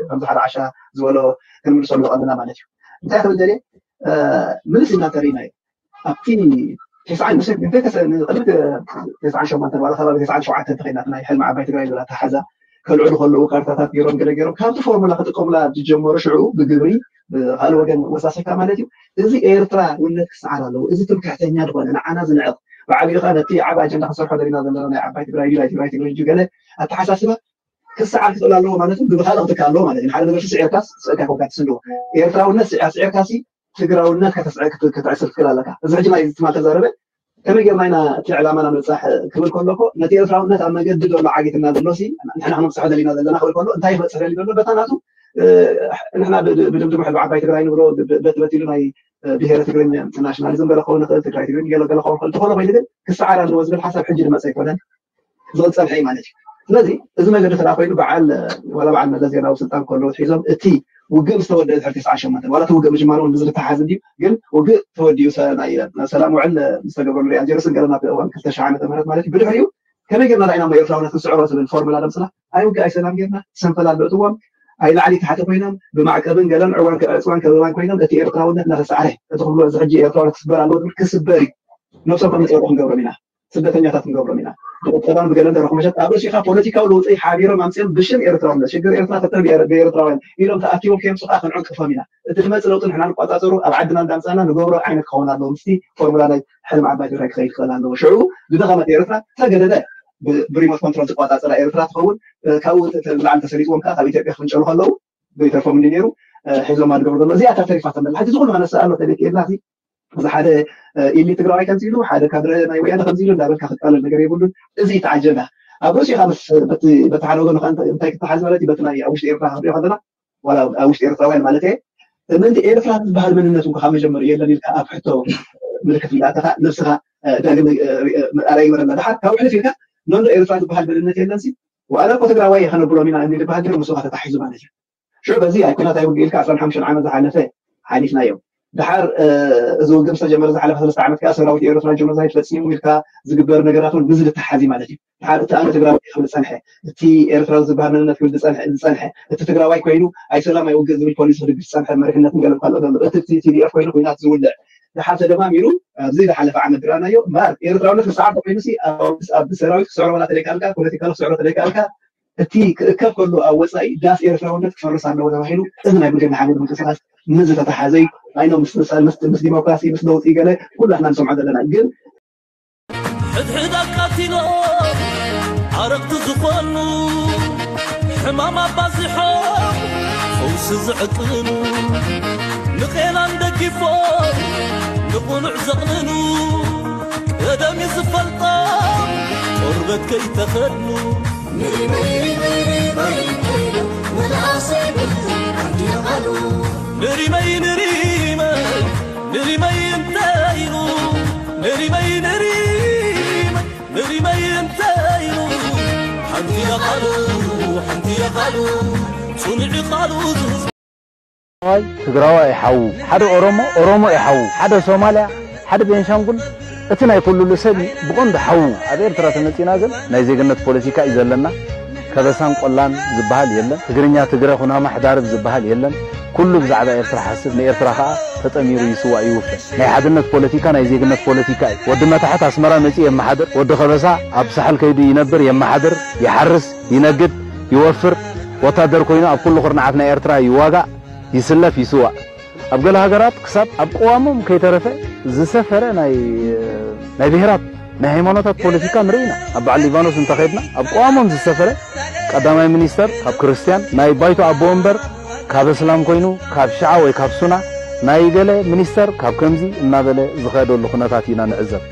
ከምዚ ሓደ ዓሻ ዝበሎ ክንምልሰሉ ኣለና ማለት እዩ እንታይ ክብል ደልየ ምልስ ኢና እንተሪእናዮ ኣብቲ ተስዓን ንሰብ ንቅድሚ ተስዓን ሸሞንተን ዋላ ከባቢ ተስዓን ሸውዓተን ተኸይድና ናይ ሕልሚ ዓባይ ትግራይ ዝብላ ተሓዛ ከልዕሉ ከለዉ ካርታታት ገይሮም ገለ ገይሮም ካብቲ ፎርሙላ ክጥቀሙላ ዝጀመሩ ሽዑ ብግብሪ ብካልእ ወገን ወሳሲካ ማለት እዩ እዚ ኤርትራ ውነት ክሰዓር ኣለዎ እዚ ትምክሕተኛ ዝኾነ ንዓና ዝንዕቕ ብዓቢኡ ከዓ ነቲ ዓብ ኣጀንዳ ክንሰርሖ ደሊና ዘለና ናይ ዓባይ ትግራይ ድዩ ናይ ትግራይ ትግራይ ድዩ ገለ ኣተሓሳስባ ክሰዓር ክኽእል ኣለዎ ማለት እውን ብብኻልእ ክትካ ኣለዎ ማለት እዩ ሓደ ነገር ስዒርካስ ስእካ ኮንካ ትስንድዎ ኤርትራውነት ስዒር ስዒርካ ሲ ትግራውነት ከተስዕር ክትዕስር ትክእል ኣለካ እዚ ሕጂ ናይ ትማል ተዛረበ ከመይ ጌርና ኢና እቲ ዕላማና ንብፃሕ ክብል ከሎ እኮ ነቲ ኤርትራውነት ኣብ መገዲ ዘሎ ዓጊትና ዘሎ ሲ ንሕና ክነብፅሖ ደሊና ዘለና ክብል ከሎ እንታይ ክበፅሕ ደሊ ዘሎ በታ ናቱ ንሕና ብድምድሙ ሕልቢ ዓባይ ትግራይ ንብሎ በቲ በቲሉ ናይ ብሄረ ትግርኛ ናሽናሊዝም ገለ ክኸውን ይኽእል ትግራይ ትግርኛ ገለ ገለ ክኸውን ይኽእል እንተኾነ ኮይኑ ግን ክሰዓር ኣለዎ ዝብል ሓሳብ ሕጂ ዝመፀ ኣይኮነን ዝቕፀል ሕይ ማለት እዩ ስለዚ እዚ ነገር ተዳ ኮይኑ በዓል ዋላ በዓል መለስ ዜናዊ ስልጣን ከሎ ሒዞም እቲ ውግእ ምስ ተወደአ ድሕሪ ተስዓ ሸሞንተ ዋላ እቲ ውግእ ምጅማሩ እውን ብዝተሓሓዝ እንድዩ ግን ውግእ ተወዲኡ ናይ ሰላም ውዕል ምስ ተገብረሉ ሪኣ ጀርስ ገለና ብእዋን ክልተ ሽሕ ዓመተ ምህረት ማለት እዩ ብድሕሪኡ ከመይ ጌርና ዳኢና እሞ ኤርትራውነት ክንስዕሮ ዝብል ፎርሙላ ደምፅና ኣይ ውግእ ኣይ ሰላም ጌርና ሰንፈል ኣለእትዎም ኣይ ላዕሊ ታሕቲ ኮይኖም ብማዕቀብን ገለን ዕዋን ዕፅዋን ከበባን ኮይኖም እቲ ኤርትራውነት እናተሳዕረ እቲ ክብሎ እዚ ሕጂ ኤርትራውነት ክስበር ኣለዎ ዝብል ክስበር እዩ ነብሶም ከም ንፀርቁ ክንገብሮም ኢና ስደተኛታት ክንገብሮም ኢና። ብቁጠባን ብገለን ደረኹ መሸት ኣብ ርእሲኻ ፖለቲካዊ ለውጢ ሓቢሮም ኣምፅኦም ብሽም ኤርትራውነት ሽግር ኤርትራ ተተን ብኤርትራውያን ኢሎም ተኣኪቦም ከየምፁ ከዓ ክንዕንቅፎም ኢና። እቲ ዝመፅእ ለውጢ ንሕና ንቋፃፀሩ ኣብ ዓድና እንዳምፃእና ንገብሮ ዓይነት ክኸውን ኣለዎ። ምስቲ ፎርሙላ ናይ ሕልሚ ዓባይ ትግራይ ክኸይድ ክኽእል ኣለዎ። ሽዑ ዝደኸመት ኤርትራ ተገደደ ብሪሞት ኮንትሮል ዝቋፃፀራ ኤርትራ ትኸውን። ካብኡ ንላዕሊ ተሰሊጥዎም ከዓ ካብ ኢትዮጵያ ክፍንጨሉ ከለዉ ዘይተርፎም እንዲ ነይሩ ሒዞማ ዝገብሩ ዘሎ እዚኣ እታ ተሪፋቶም ዘላ ሕጂ ዝኩሉ ከነስእ ኣሎ ተደኪልና እዚ ሓደ ኢሊ ትግራዋይ ከምዚ ኢሉ ሓደ ካድረ ናይ ወያነ ከምዚ ኢሉ እንዳበልካ ክትቃለል ነገር የብሉን። እዚ እቲ ኣጀንዳ ኣብ ርእሲኻ ምስ በቲ በቲ ሓደ ወገኑ ከዓ እንታይ እንታይ ክትሓዝ ማለት እዩ በቲ ናይ ኣብ ውሽጢ ኤርትራ ክንሪኦ ከለና ዋላ ኣብ ውሽጢ ኤርትራውያን ማለት እየ ምእንቲ ኤርትራ ዝበሃል መንነት እንኳ ካብ መጀመሪኡ የለን ኢልካ ኣብ ሕቶ ምልክት እንዳእተኻ ነብስኻ ዳግም ኣራይ ይበረና ድሓር ካብ ሕልፍ ኢልካ ኖንዶ ኤርትራ ዝበሃል መንነት የለን ሲ ዋላ እኮ ትግራዋይ እየ ከነብሎም ኢና እንዲ ዝበሃል ግን ምስኻ ተታሒዙ ማለት እዩ። ሽዑ በዚ ኣብ ኩናት ኣይውግእ ኢልካ ዕስራን ሓሙሽተን ዓመት ዝሓለፈ ሓሊፍናዮ። ድሓር እዚ ውግእ ምስ ተጀመረ ዝሓለፈ ሰለስተ ዓመት ከኣ ሰራዊት ኤርትራ ጀኖሳይድ ፈጺሙ ኢልካ ዝግበር ነገራት እውን ብዚ ዝተሓሓዝ እዩ ማለት እዩ። ድሓር እቲ ኣነ ትግራዋይ ክብል ዝጸንሐ፣ እቲ ኤርትራዊ ዝበሃል መንነት ክብል ዝጸንሐ፣ ዝጸንሐ፣ እቲ ትግራዋይ ኮይኑ ኣይ ሰላም ኣይ ውግእ ዝብል ፖሊሲ ክድግፍ ዝጸንሐ መሪሕነትን ገለን ካልኦት ኣሎ። እቲ እቲ ቲ ዲ ኤፍ ኮይኑ ኲናት ዝውልዕ ድሓር ተደማሚሩ ኣብዚ ዝሓለፈ ዓመት ዝረኣናዮ እምበኣር ኤርትራውነት ክሰዓር ተኮይኑሲ ኣብ ሰራዊት ክስዕሮ ዋላ ተደይከኣልካ ፖለቲካሊ ክስዕሮ ተደይከኣልካ እቲ ክእከብ ከሎ ኣብ ወፃኢ ዳስ ኤርትራውነት ክፈርስ ኣለዎ ተባሂሉ እዚ ናይ ብልግና ሓመድ ምንቅስቃስ ምስ ዝተተሓዘ እዩ። ኣይኖ ምስ ምስ ምስ ዲሞክራሲ ምስ ለውጢ ገለ ኩላትና ንሰምዖ ዘለና ግን ሕድሕድ ኣቃቲሎ ኣረቕቲ ዝኾኑ ሕማም ኣባዚሖ ፈውሲ ዝዕጥኑ ንቄናን ደጊ ጽኑዕ ዘቕንኑ ቀደም እዩ ዝፈልጦም ቆርበት ከይተኸድኑ ንሪመይ ንሪመይ መልኣሰይ ብልዓንዲ ቃሉ ንሪመይ ንሪመይ ንሪመይ እንተ ኢሉ ንሪመይ ንሪመይ ንሪመይ እንተ ኢሉ ሓንቲ ቃሉ ሓንቲ ቃሉ ጽኑዕ ቃሉ ዝህዝ ትግራዋይ ትግራዋይ እዩ ሓዉ፣ ሓደ ኦሮሞ ኦሮሞ እዩ ሓዉ፣ ሓደ ሶማልያ፣ ሓደ ቤንሻንጉል፣ እቲ ናይ ኩሉሉ ሰብ እዩ ብቐንዱ ሓዉ። ኣብ ኤርትራ ተመጺና ግን ናይ ዜግነት ፖለቲካ እዩ ዘለና። ከበሳን ቆላን ዝበሃል የለን። ትግርኛ ትግረ ኩናማ ሕዳርብ ዝበሃል የለን። ኩሉ ብዛዕባ ኤርትራ ሓስብ ንኤርትራ ከኣ ተጠሚሩ ይስዋእ ይውፈ። ናይ ሓድነት ፖለቲካ ናይ ዜግነት ፖለቲካ እዩ። ወዲ መታሕት ኣስመራ መጺኡ የመሓድር፣ ወዲ ከበሳ ኣብ ሳሕል ከይዱ ይነብር የመሓድር፣ ይሓርስ፣ ይነግድ፣ ይወፍር፣ ወታደር ኮይኑ ኣብ ኩሉ ኩርናዓት ናይ ኤርትራ ይዋጋእ። ይስለፍ ይስዋእ። ኣብ ገለ ሃገራት ክሳብ ኣብ ቅዋሞም ከይተረፈ ዝሰፈረ ናይ ናይ ብሄራት ናይ ሃይማኖታት ፖለቲካ ንርኢ ኢና። ኣብ በዓል ሊባኖስ እንተኸድና ኣብ ቅዋሞም ዝሰፈረ ቀዳማይ ሚኒስተር ካብ ክርስትያን ናይ ባይቶ ኣቦ ወንበር ካብ እስላም ኮይኑ ካብ ሽዓ ወይ ካብ ሱና ናይ ገለ ሚኒስተር ካብ ከምዚ እናበለ ዝኸደሉ ኩነታት ኢና ንዕዘብ።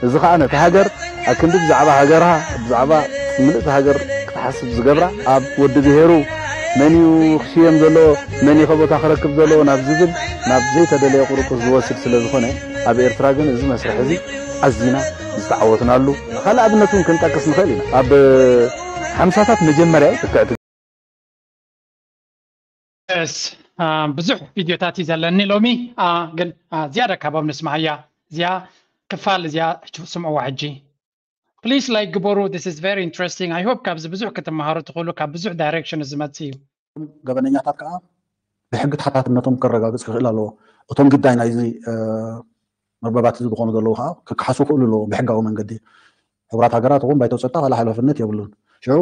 እዚ ከዓ ነቲ ሃገር ኣክንዲ ብዛዕባ ሃገርሃ ብዛዕባ ምልእቲ ሃገር ክትሓስብ ዝገብራ ኣብ ወዲ ብሄሩ መን እዩ ክሽየም ዘለዎ መን እዩ ከቦታ ክረክብ ዘለዎ ናብ ዝብል ናብ ዘይተደለየ ቁርቁስ ዝወስድ ስለ ዝኾነ ኣብ ኤርትራ ግን እዚ መስርሕ እዚ ኣዚና ዝተዓወትናሉ ካልእ ኣብነት እውን ክንጠቅስ ንኽእል ኢና ኣብ ሓምሳታት መጀመርያ እዩ ትክዕቲ ስ ብዙሕ ቪድዮታት እዩ ዘለኒ ሎሚ ግን ዝያዳ ካባብ ንስማዓያ እዚኣ ክፋል እዚኣ ስምዕዋ ሕጂ please like ግበሩ this is very interesting I hope ካብዚ ብዙሕ ክትመሃሩ ትኽእሉ ካብ ብዙሕ direction ዝመጽእ እዩ ገበነኛታት ከዓ ብሕጊ ተሓታትነቶም ከረጋግፅ ክኽእል ኣለዎ እቶም ግዳይ ናይዚ መርበባት እዚ ዝኾኑ ዘለዉ ከዓ ክከሓሱ ክኽእሉ ኣለዎ ብሕጋዊ መንገዲ ሕቡራት ሃገራት እውን ባይቶ ፀጥታ ካልእ ሓላፍነት የብሉን ሽዑ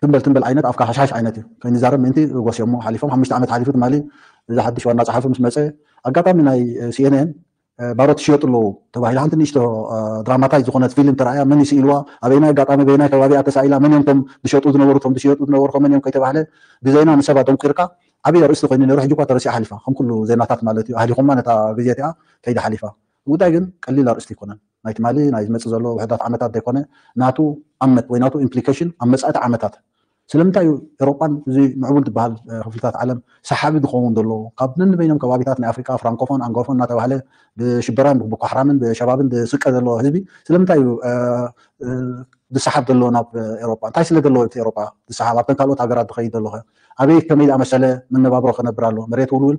ትንበል ትንበል ዓይነት ኣፍካ ሓሽሓሽ ዓይነት እዩ ከይንዛረብ ምእንቲ ጎስዮሞ ሓሊፎም ሓሙሽተ ዓመት ሓሊፉ ትማሊ እዚ ሓድሽ ዋና ፀሓፊ ምስ መፀ ኣጋጣሚ ናይ ሲኤንኤን ባሮት ይሽየጡ ኣለዉ ተባሂሉ ሓንቲ ንእሽቶ ድራማታይ ዝኾነት ፊልም ተራእያ መን ይስኢልዋ ኣበይናይ ኣጋጣሚ በይናይ ከባቢ እያ ተሳኢላ መን እዮም ቶም ዝሸጡ ዝነበሩ ቶም ዝሽየጡ ዝነበሩ ከመን እዮም ከይተባህለ ብዜና ንሰባት ደንቁርካ ዓብዪ ኣርእስቲ ኮይኑ ነይሩ ሕጂ እኳ ተረሲዓ ሓሊፋ ከም ኩሉ ዜናታት ማለት እዩ ኣህሊኹማ ነታ ግዜ እቲኣ ከይዳ ሓሊፋ እቲ ጉዳይ ግን ቀሊል ኣርእስቲ ኣይኮነን ናይ ትማሊ ናይ ዝመፅእ ዘሎ ውሕዳት ዓመታት ዘይኮነ ናቱ ኣመት ወይ ናቱ ኢምፕሊኬሽን ኣብ መፃእቲ ዓመታት ስለምንታይ እዩ ኤሮጳን እዚ ምዕቡል ዝበሃል ክፍልታት ዓለም ሰሓቢ ዝኸውን ዘሎ ካብ ነንበይኖም ከባቢታት ናይ ኣፍሪቃ ፍራንኮፎን ኣንጎፎን እናተባህለ ብሽበራን ብኳሕራምን ብሸባብን ዝስቀ ዘሎ ህዝቢ ስለምንታይ እዩ ዝሰሓብ ዘሎ ናብ ኤሮጳ እንታይ ስለ ዘለዎ እቲ ኤሮጳ ዝሰሓብ ኣብተን ካልኦት ሃገራት ዝኸይድ ዘሎ ኣበይ ከመይ ዝኣመሰለ መነባብሮ ክነብር ኣሎ መሬት ውልውል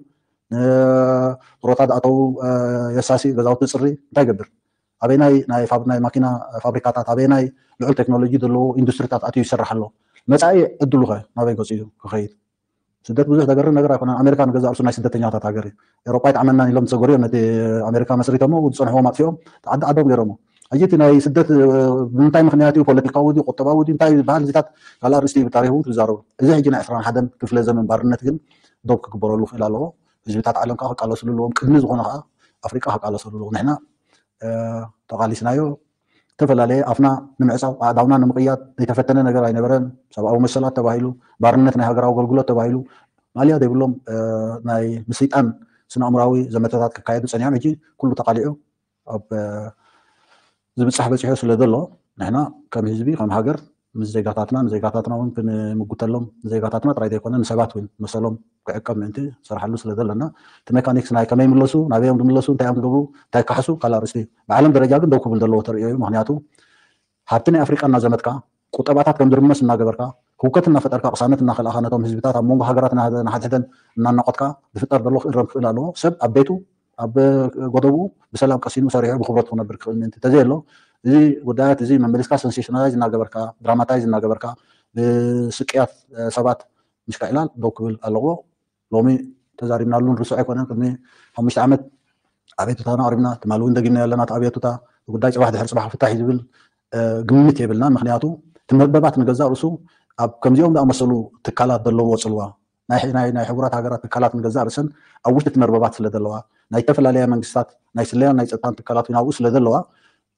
ጥሮታ ዝኣተዉ የሳሲ ገዛውቲ ፅሪ እንታይ ይገብር ኣበይናይ ናይ ማኪና ፋብሪካታት ኣበይናይ ልዑል ቴክኖሎጂ ዘለዎ ኢንዱስትሪታት ኣትዩ ይሰርሕ ኣሎ መፃኢ ዕድሉ ኸ ናበይ ገፁ እዩ ክኸይድ ስደት ብዙሕ ዘገርም ነገር ኣይኮነን ኣሜሪካ ንገዛ ርሱ ናይ ስደተኛታት ሃገር እዩ ኤሮጳ ይጥዓመና ኢሎም ዝሰገሩ እዮም ነቲ ኣሜሪካ መስሪቶሞ ዝፀንሕዎም ኣጥፊኦም ዓዲ ዓዶም ገይሮሞ ሕጂ እቲ ናይ ስደት ብምንታይ ምክንያት እዩ ፖለቲካዊ ድዩ ቁጠባዊ ድዩ እንታይ ዝበሃል እዚታት ካልእ ኣርእስቲ እዩ ብታሪክ እውን ትዛረቡ እዚ ሕጂ ናይ ዕስራን ሓደን ክፍለ ዘመን ባርነት ግን ዶብ ክግበረሉ ክእል ኣለዎ ህዝብታት ዓለም ከዓ ክቃለስሉ ኣለዎም ቅድሚ ዝኾነ ከዓ ኣፍሪቃ ክቃለሰሉ ኣለዎ ንሕና ተቓሊስናዮ ዝተፈላለየ ኣፍና ንምዕፃው ኣእዳውና ንምቕያድ ዘይተፈተነ ነገር ኣይነበረን ሰብኣዊ መሰላት ተባሂሉ ባርነት ናይ ሃገራዊ ኣገልግሎት ተባሂሉ ማልያ ዘይብሎም ናይ ምስይጣን ስነ ኣእምራዊ ዘመተታት ክካየዱ ፀኒሖም ሕጂ ኩሉ ተቃሊዑ ኣብ ዝብፃሕ በፂሑ ስለ ዘሎ ንሕና ከም ህዝቢ ከም ሃገር ምስ ዜጋታትና ንዜጋታትና እውን ክንምጉተሎም ንዜጋታትና ጥራይ ዘይኮነ ንሰባት እውን መሰሎም ክዕቀብ ምእንቲ ንሰርሓሉ ስለ ዘለና እቲ ሜካኒክስ ናይ ከመይ ምለሱ ናበዮም ዝምለሱ እንታይ እዮም ዝገብሩ እንታይ ካሕሱ ካልእ ኣርእስቲ እዩ ብዓለም ደረጃ ግን ደው ክብል ዘለዎ ተርእዮ እዩ ምክንያቱ ሃብቲ ናይ ኣፍሪቃ እናዘመትካ ቁጠባታት ከም ዝርመስ እናገበርካ ህውከት እናፈጠርካ ቅሳነት እናኸልኣኻ ነቶም ህዝብታት ኣብ መንጎ ሃገራት ናሓድሕደን እናናቆትካ ዝፍጠር ዘሎ ክእረም ክኽእል ኣለዎ ሰብ ኣብ ቤቱ ኣብ ጎደብኡ ብሰላም ቀሲኑ ሰሪሑ ብክብረቱ ክነብር ክኽእል ምእንቲ ተዘየሎ እዚ ጉዳያት እዚ መመሊስካ ሰንሴሽናላይዝ እናገበርካ ድራማታይዝ እናገበርካ ብስቅያት ሰባት ምሽካዕላል ደው ክብል ኣለዎ ሎሚ ተዛሪብናሉ ንርሶ ኣይኮነን ቅድሚ ሓሙሽተ ዓመት ኣቤቱታና ኣቅሪብና ትማሊ እውን ደጊምና ኣለና እቲ ኣቤቱታ ጉዳይ ፅባሕ ድሕሪ ፅባሕ ክፍታሕ እዩ ዝብል ግምት የብልና ምክንያቱ ትመርበባት ንገዛእ ርእሱ ኣብ ከምዚኦም ዝኣመሰሉ ትካላት ዘለዎ ፅልዋ ናይ ሕቡራት ሃገራት ትካላት ንገዛእ ርእሰን ኣብ ውሽጢ እቲ መርበባት ስለ ዘለዋ ናይ ዝተፈላለያ መንግስታት ናይ ስለያን ናይ ፀጥታን ትካላት ናብኡ ስለ ዘለዋ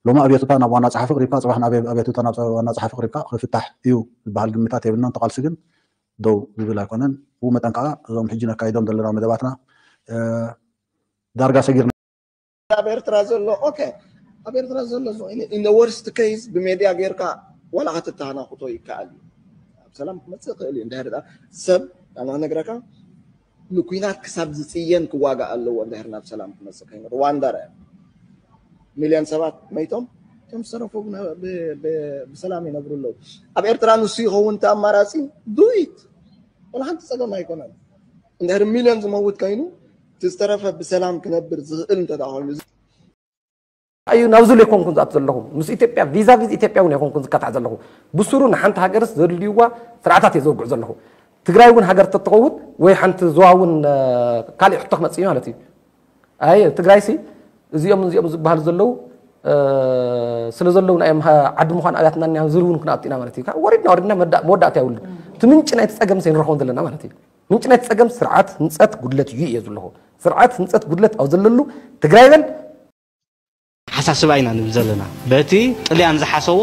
ሎሚ ኣብዮትታ ናብ ዋና ፀሓፊ ቅሪብካ ፅባሕ ናብ ኣብዮትታ ናብ ዋና ፀሓፊ ቅሪብካ ክፍታሕ እዩ ዝበሃል ግምታት የብልናን ተቃልሲ ግን ደው ዝብል ኣይኮነን ብኡ መጠን ከዓ እዞም ሕጂ ነካይዶም ዘለና መደባትና ዳርጋ ሰጊርና። ኣብ ኤርትራ ዘሎ okay፣ ኣብ ኤርትራ ዘሎ in the worst case ብሜድያ ጌርካ ዋላ ክትተሃናኽቶ ይከኣል እዩ። ኣብ ሰላም ክመፅእ ይኽእል እዩ። እንድሕር ደኣ ሰብ ኣነ ክነግረካ ንኩናት ክሳብ ዝፅየን ክዋጋእ ኣለዎ። እንድሕር ናብ ሰላም ክመፅእ ኮይኑ ሩዋንዳ ርኣ ሚልዮን ሰባት መይቶም፣ እቶም ዝሰረፉ ብሰላም ይነብሩ ኣለዉ። ኣብ ኤርትራ ንሱ ይኸውን እቲ ኣማራፂ። ዱይት ወላ ሓንቲ ፀገም ኣይኮነን። እንድሕር ሚልዮን ዝመውት ኮይኑ እቲ ዝተረፈ ብሰላም ክነብር ዝኽእል እንተ ኮይኑ እዩ ናብዚ ሉ ኣይኮንኩን ዝኣቱ ዘለኹ ምስ ኢትዮጵያ ቪዛ ቪዝ ኢትዮጵያ እውን ኣይኮንኩን ዝካታዕ ዘለኹ። ብስሩ ንሓንቲ ሃገርስ ዘድልይዋ ስርዓታት እየ ዘወግዕ ዘለኹ። ትግራይ እውን ሃገር ተትኸውን ወይ ሓንቲ ዞባ እውን ካልእ ሕቶ ክመፅእ ማለት እዩ። ኣይ ትግራይ ሲ እዚኦም እዚኦም ዝበሃሉ ዘለዉ ስለ ዘለዉ ናይ ዓዲ ምዃን ኣብያትና እኒኣ ዝብል እውን ክንኣቱ ኢና ማለት እዩ። ወሪድና ወሪድና መወዳእታ የብሉን። እቲ ምንጪ ናይቲ ፀገም ሰይንረኽቦን ዘለና ማለት እዩ። ምንጭ ናይ ጸገም ስርዓት ህንጸት ጉድለት እዩ እየ ዝብለኹ። ስርዓት ህንጸት ጉድለት ኣብ ዘለሉ ትግራይ በል። ሓሳስባ ኢና ንብል ዘለና በቲ ጥልያን ዝሓሰዎ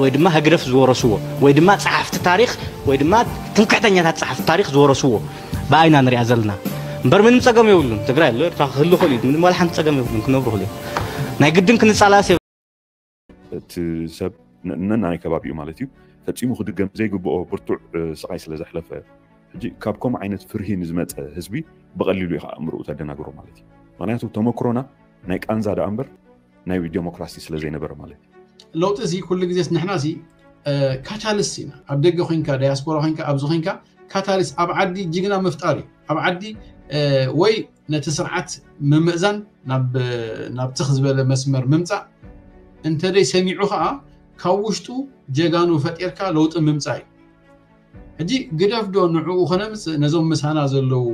ወይ ድማ ህግደፍ ዝወረስዎ ወይ ድማ ጸሓፍቲ ታሪኽ ወይ ድማ ትምክሕተኛታት ጸሓፍቲ ታሪኽ ዝወረስዎ ብኣይና ንሪኣ ዘለና እምበር ምንም ጸገም የብሉን። ትግራይ ኣሎ ኤርትራ ክህሉ ክእል እዩ። ምንም ዋላ ሓንቲ ጸገም የብሉን። ክነብሩ ክእል እዩ። ናይ ግድን ክንጻላስ እቲ ሰብ ነናይ ከባቢኡ ማለት እዩ ፈፂሙ ክድገም ዘይግብኦ ብርቱዕ ስቃይ ስለ ዘሕለፈ ሕጂ ካብ ከምኡ ዓይነት ፍርሂ ንዝመፀ ህዝቢ ብቐሊሉ ኢኻ ኣእምርኡ ተደናግሮ ማለት እዩ። ምክንያቱ ተመክሮና ናይ ቃንዛ ደኣ እምበር ናይ ዲሞክራሲ ስለ ዘይነበረ ማለት እዩ። ለውጢ እዚ ኩሉ ግዜስ ንሕና ሲ ካታሊስት ኢና። ኣብ ደገ ኮንካ ዳያስፖራ ኮንካ ኣብዚ ኮንካ ካታሊስት ኣብ ዓዲ ጅግና ምፍጣር እዩ። ኣብ ዓዲ ወይ ነቲ ስርዓት ምምእዛን ናብ ትኽ ዝበለ መስመር ምምፃእ እንተደይ ሰሚዑ ከዓ ካብ ውሽጡ ጀጋኑ ፈጢርካ ለውጢ ምምፃእ እዩ። ሕጂ ግደፍ ዶ ንዕኡ ከነምፅእ ነዞም ምሳና ዘለዉ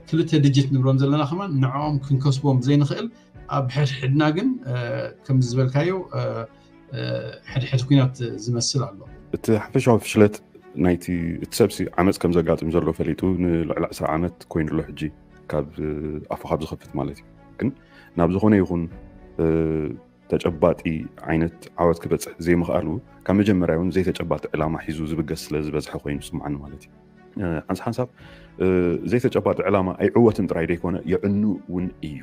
ክልተ ድጅት ንብሎም ዘለና ከማን ንዕኦም ክንከስቦም ዘይንኽእል ኣብ ሕድሕድና ግን ከምዚ ዝበልካዮ ሕድሕድ ኩናት ዝመስል ኣሎ። እቲ ሓፈሻዊ ፍሽለት ናይቲ እቲ ሰብሲ ዓመፅ ከም ዘጋጥም ዘሎ ፈሊጡ ንልዕሊ ዕስራ ዓመት ኮይኑ ኣሎ ሕጂ ካብ ኣፉ ካብ ዝኸፍት ማለት እዩ። ግን ናብ ዝኾነ ይኹን ተጨባጢ ዓይነት ዓወት ክበፅሕ ዘይምኽኣሉ ካብ መጀመርያ እውን ዘይተጨባጢ ዕላማ ሒዙ ዝብገስ ስለ ዝበዝሐ ኮይኑ ዝስምዓኒ ማለት እዩ። ሓንሳ ሓንሳብ ዘይተጨባጢ ዕላማ ኣይዕወትን ጥራይ ደይኮነ የዕኑ እውን እዩ።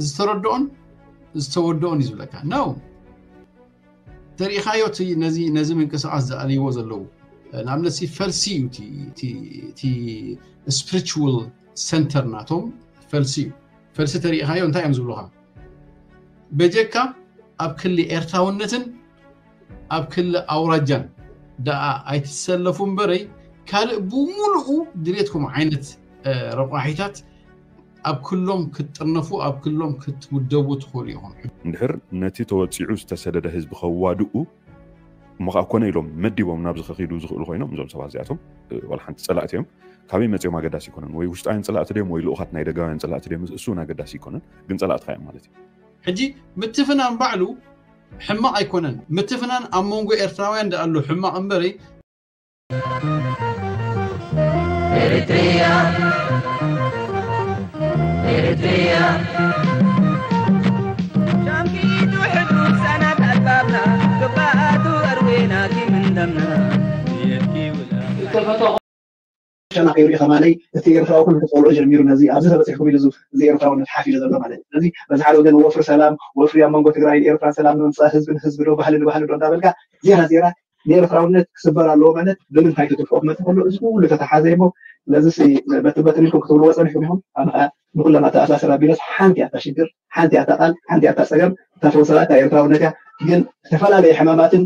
ዝተረድኦን ዝተወደኦን እዩ ዝብለካ ነው። ተሪኢኻዮ ነዚ ምንቅስቃስ ዝኣልይዎ ዘለዉ ንኣብነት ፈልሲ እዩ እቲ spiritual center ናቶም ፈልሲ እዩ። ፈልሲ ተሪኢኻዮ እንታይ እዮም ዝብሉኻ? በጀካ ኣብ ክሊ ኤርትራውነትን ኣብ ክሊ ኣውራጃን ደኣ ኣይትሰለፉ እምበረይ ካልእ ብሙሉኡ ድሌትኩም ዓይነት ረቋሒታት ኣብ ክሎም ክትጥርነፉ ኣብ ክሎም ክትውደቡ ትኽእሉ ኢኹም። እንድሕር ነቲ ተወፂዑ ዝተሰደደ ህዝቢ ከዋድኡ እሞ ከዓ ኮነ ኢሎም መዲቦም ናብዚ ከኺዱ ዝኽእሉ ኮይኖም እዞም ሰባት እዚኣቶም ዋላ ሓንቲ ፀላእቲ እዮም። ካበይ መፅኦም ኣገዳሲ ኣይኮነን። ወይ ውሽጣውያን ፀላእቲ ድዮም ወይ ልኡኻት ናይ ደጋውያን ፀላእቲ ድዮም እሱ እውን ኣገዳሲ ኣይኮነን። ግን ፀላእትኻ እዮም ማለት እዩ። ሕጂ ምትፍናን ባዕሉ ሕማቕ ኣይኮነን። ምትፍናን ኣብ መንጎ ኤርትራውያን ደኣ ኣሎ ሕማቕ እምበረይ። Eritrea, Eritrea. ሻምኪቱ ሕዱ ሰናት ኣልባብና ግባኣቱ ኣርዌና ኪምንደምና የኪውላ ሸና ከይርኢ ከማለይ እቲ ኤርትራዊ ኩሉ ተፀልኦ ጀሚሩ ነዚ ኣብዚ ተበፂሕኩም ኢሉ እዚ ኤርትራውነት ሓፍ ኢሉ ዘሎ ማለት እዩ። ስለዚ በዚ ሓደ ወገን ወፍሪ ሰላም ወፍሪ ኣብ መንጎ ትግራይን ኤርትራን ሰላም ንምምፃእ ህዝቢ ንህዝቢ ዶ ባህሊ ንባህሊ ዶ እንዳበልካ ዜራ ዜራ ንኤርትራውነት ክስበር ኣለዎ ማለት ብምንታይ ትጥፍኦ ክመፅእ ከሎ እዚ ኩሉ ተተሓዘ እሞ ነዚ በቲ በትን ኢልኩም ክትብልዎ ፀኒሕኩም ኢኹም። ኣነ ከዓ ንኩሎም ኣተኣሳስር ኣቢለስ ሓንቲ እያ እታ ሽግር፣ ሓንቲ እያ እታ ቃል፣ ሓንቲ እያ እታ ፀገም፣ እታ ፈውሲ እታ ኤርትራውነት እያ። ግን ዝተፈላለየ ሕማማትን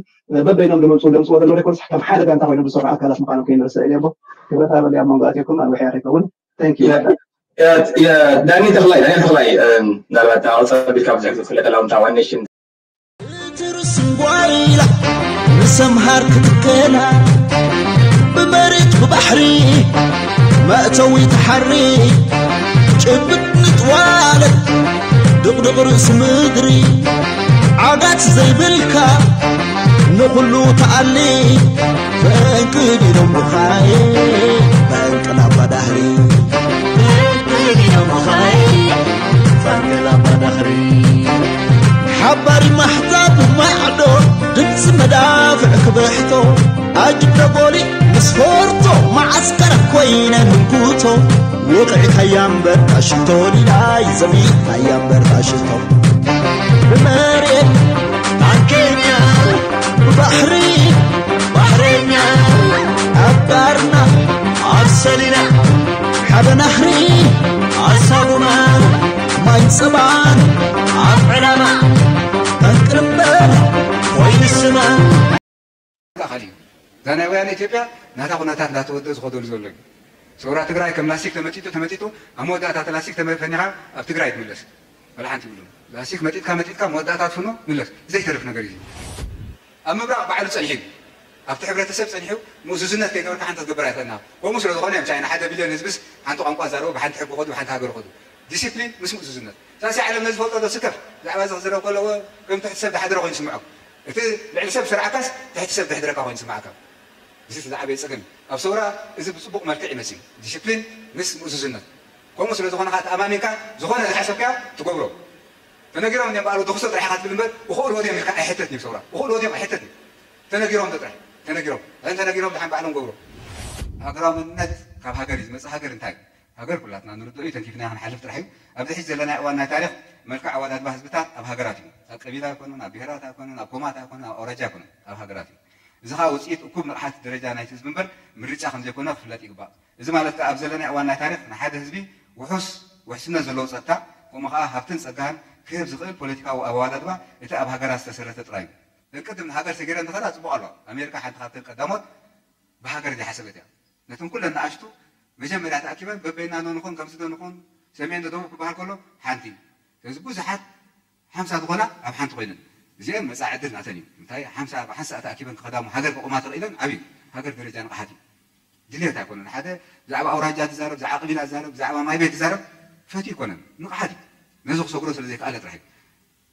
በበይኖም ዝመፅኡ ዘምፅዎ ዘለዉ ዘይኮኑስ ከም ሓደ ጋንታ ኮይኖም ዝሰርሑ ኣካላት ምዃኖም ከይንርስዕ ኢለ እሞ ክብረት ሃበለይ ኣብ መንጎ ኣትየኩም ኣንዊሐ ከይከውን። Thank you። ዳኒ ተኽላይ ዳኒ ተኽላይ ምናልባት ኣውፃ ቢልካ ብዙሕ ዝፍለጥ ኣላውንታ ዋን ኔሽን ትርስንጓይላ ንሰምሃር ክትከላ ብመሬት ብባሕሪ መእተዊ ተሓሪ ጭብጥ ንጥዋለ ድቕድቕ ርእሲ ምድሪ ዓጋት ዘይብልካ ንኹሉ ተኣሊ ፈንቅል ኢሎም ብኻየ ፈንቅል ኣባዳህሪ ፈንቅል ኣባዳህሪ ሓባሪ ማሕዛብ ማዕዶ ድምፂ መዳፍዕ ክብሕቶ ኣጅበ ጎሊ ምስ ፎርቶ መዓስከር ኮይነ ህንኩቶ ሽቶ ውቕዕካያ እምበር ሽቶ ዲላይ ዘሚኻያ እምበር ሽቶ ብመሬት ኣብ ኬንያ ብባሕሪ ባሕረኛ ኣብ ባርና ኣብ ሰሊና ሓደ ናህሪ ኣሳጉማ ማይ ጸባን ኣብ ዕላማ ጠንቅርምበር ኮይኑ ስማ ኣካል እዩ። እዛ ናይ ወያነ ኢትዮጵያ ናታ ኩነታት እንዳተወደ ዝኸደሉ ዘሎ እዩ። ሰውራ ትግራይ ከም ላስቲክ ተመጢጡ ተመጢጡ ኣብ መወዳእታ እቲ ላስቲክ ተመ- ፈኒኻ ኣብ ትግራይ ትምለስ። ወላ ሓንቲ ይብሉ ላስቲክ መጢጥካ መጢጥካ መወዳእታ ትፍኖ ምለስ ዘይተርፍ ነገር እዩ። ኣብ ምብራቕ ባዕሉ ጸኒሑ ኣብቲ ሕብረተሰብ ጸኒሑ ምእዙዝነት ከይገበርካ ሓንቲ ክትገብር ኣይኽእልና። ከምኡ ስለ ዝኾነ እዮም ቻይና ሓደ ቢልዮን ህዝብስ ሓንቲ ቋንቋ ዛረቡ ብሓንቲ ሕጊ ኸዱ ብሓንቲ ሃገር ኸዱ። ዲሲፕሊን ምስ ምእዙዝነት ሳሲ ዓለም ነዚ ፈልጦ ዶ ስከፍ ብዛዕባ እዚ ክዝረብ ከለዎ ከም ትሕቲ ሰብ ዝሓደረ ኮይኑ ይስምዖም። እቲ ልዕሊ ሰብ ዝሰርዓካስ ትሕቲ ሰብ ዘሕድረካ ኮይኑ ይስምዓካ። እዚ እቲ ዝዓበየ ጸገም እዩ። ኣብ ሰውራ እዚ ብጽቡቕ መልክዕ ይመጽእ እዩ። ዲሲፕሊን ምስ ምእዙዝነት። ከምኡ ስለ ዝኾነ ኸዓ ተኣማሚንካ ዝኾነ ዝሓሰብካዮ ትገብሮ። ተነጊሮም እዮም በኣሉ ድኽሶ ጥራሕ ኢኻ ትብል እምበር እኽእልዎ ድዮም ኢልካ ኣይሕተትን እዩ ሰውራ። እኽእልዎ ድዮም ኣይሕተትን እዩ። ተነጊሮም ዶ ጥራሕ ተነጊሮም። እተን ተነጊሮም ድሓን ባዕሎም ገብሮ። ሃገራዊ መንነት ካብ ሃገር እዩ ዝመጽእ። ሃገር እንታይ እዩ? ሃገር ኩላትና ንርድኦ እዩ፣ ተንኪፍናዮ ክንሓልፍ ጥራሕ እዩ። ኣብዚ ሕጂ ዘለናዮ እዋን ናይ ታሪኽ መልክዕ ኣወዳድባ ህዝብታት ኣብ ሃገራት እዩ። ኣብ ቀቢላ ኣይኮነን፣ ኣብ ብሄራት ኣይኮነን፣ ኣብ ኮማት ኣይኮነን፣ ኣብ ኣውራጃ ኣይኮነን፣ ኣብ ሃገራት እዩ። እዚ ኸኣ ውጽኢት እኩብ ንቕሓት ደረጃ ናይቲ ህዝቢ እምበር ምርጫ ከም ዘይኮነ ክፍለጥ ይግባእ። እዚ ማለት ከኣ ኣብ ዘለናዮ እዋን ናይ ታሪኽ ንሓደ ህዝቢ ውሑስ ውሕስነት ዘለዎ ጸጥታ ከምኡ ኸኣ ሃብትን ጸጋን ክህብ ዝኽእል ፖለቲካዊ ኣወዳድባ እቲ ኣብ ሃገራት ዝተሰረተ ጥራይ እዩ። ደቂ ቅድም ንሃገር ሰጊረን ዝኸዳ ጽቡቕ ኣለዋ። ኣሜሪካ ሓንቲ ካብተን ቀዳሞት ብሃገር ዘይሓሰበት እያ። ነተን ኩለን ንኣሽቱ መጀመርያ ተኣኪበን በበይና ዶ ንኹን ከምዚ ዶ ንኹን ሰሜን ዶ ደቡብ ክበሃል ከሎ ሓንቲ እዩ። ስለዚ ብዙሓት ሓምሳ ዝኾና ኣብ ሓንቲ ኮይነን እዚአን መጻኢ ዕድል ናተን እዩ። እንታይ ሓምሳ ብሓንሳእ ተኣኪበን ክኸዳ እሞ ሃገር ከቑማ ተኽኢለን ዓብዩ ሃገር ደረጃ ንቕሓት እዩ። ድልየት ኣይኮነን። ሓደ ብዛዕባ ኣውራጃ ትዛረብ፣ ብዛዕባ ቀቢላ ትዛረብ፣ ብዛዕባ ማይ ቤት ትዛረብ ፈትዩ ኣይኮነን። ንቕሓት እዩ። ነዚ ክሰግሮ ስለ ዘይከኣለ ጥራሕ እዩ።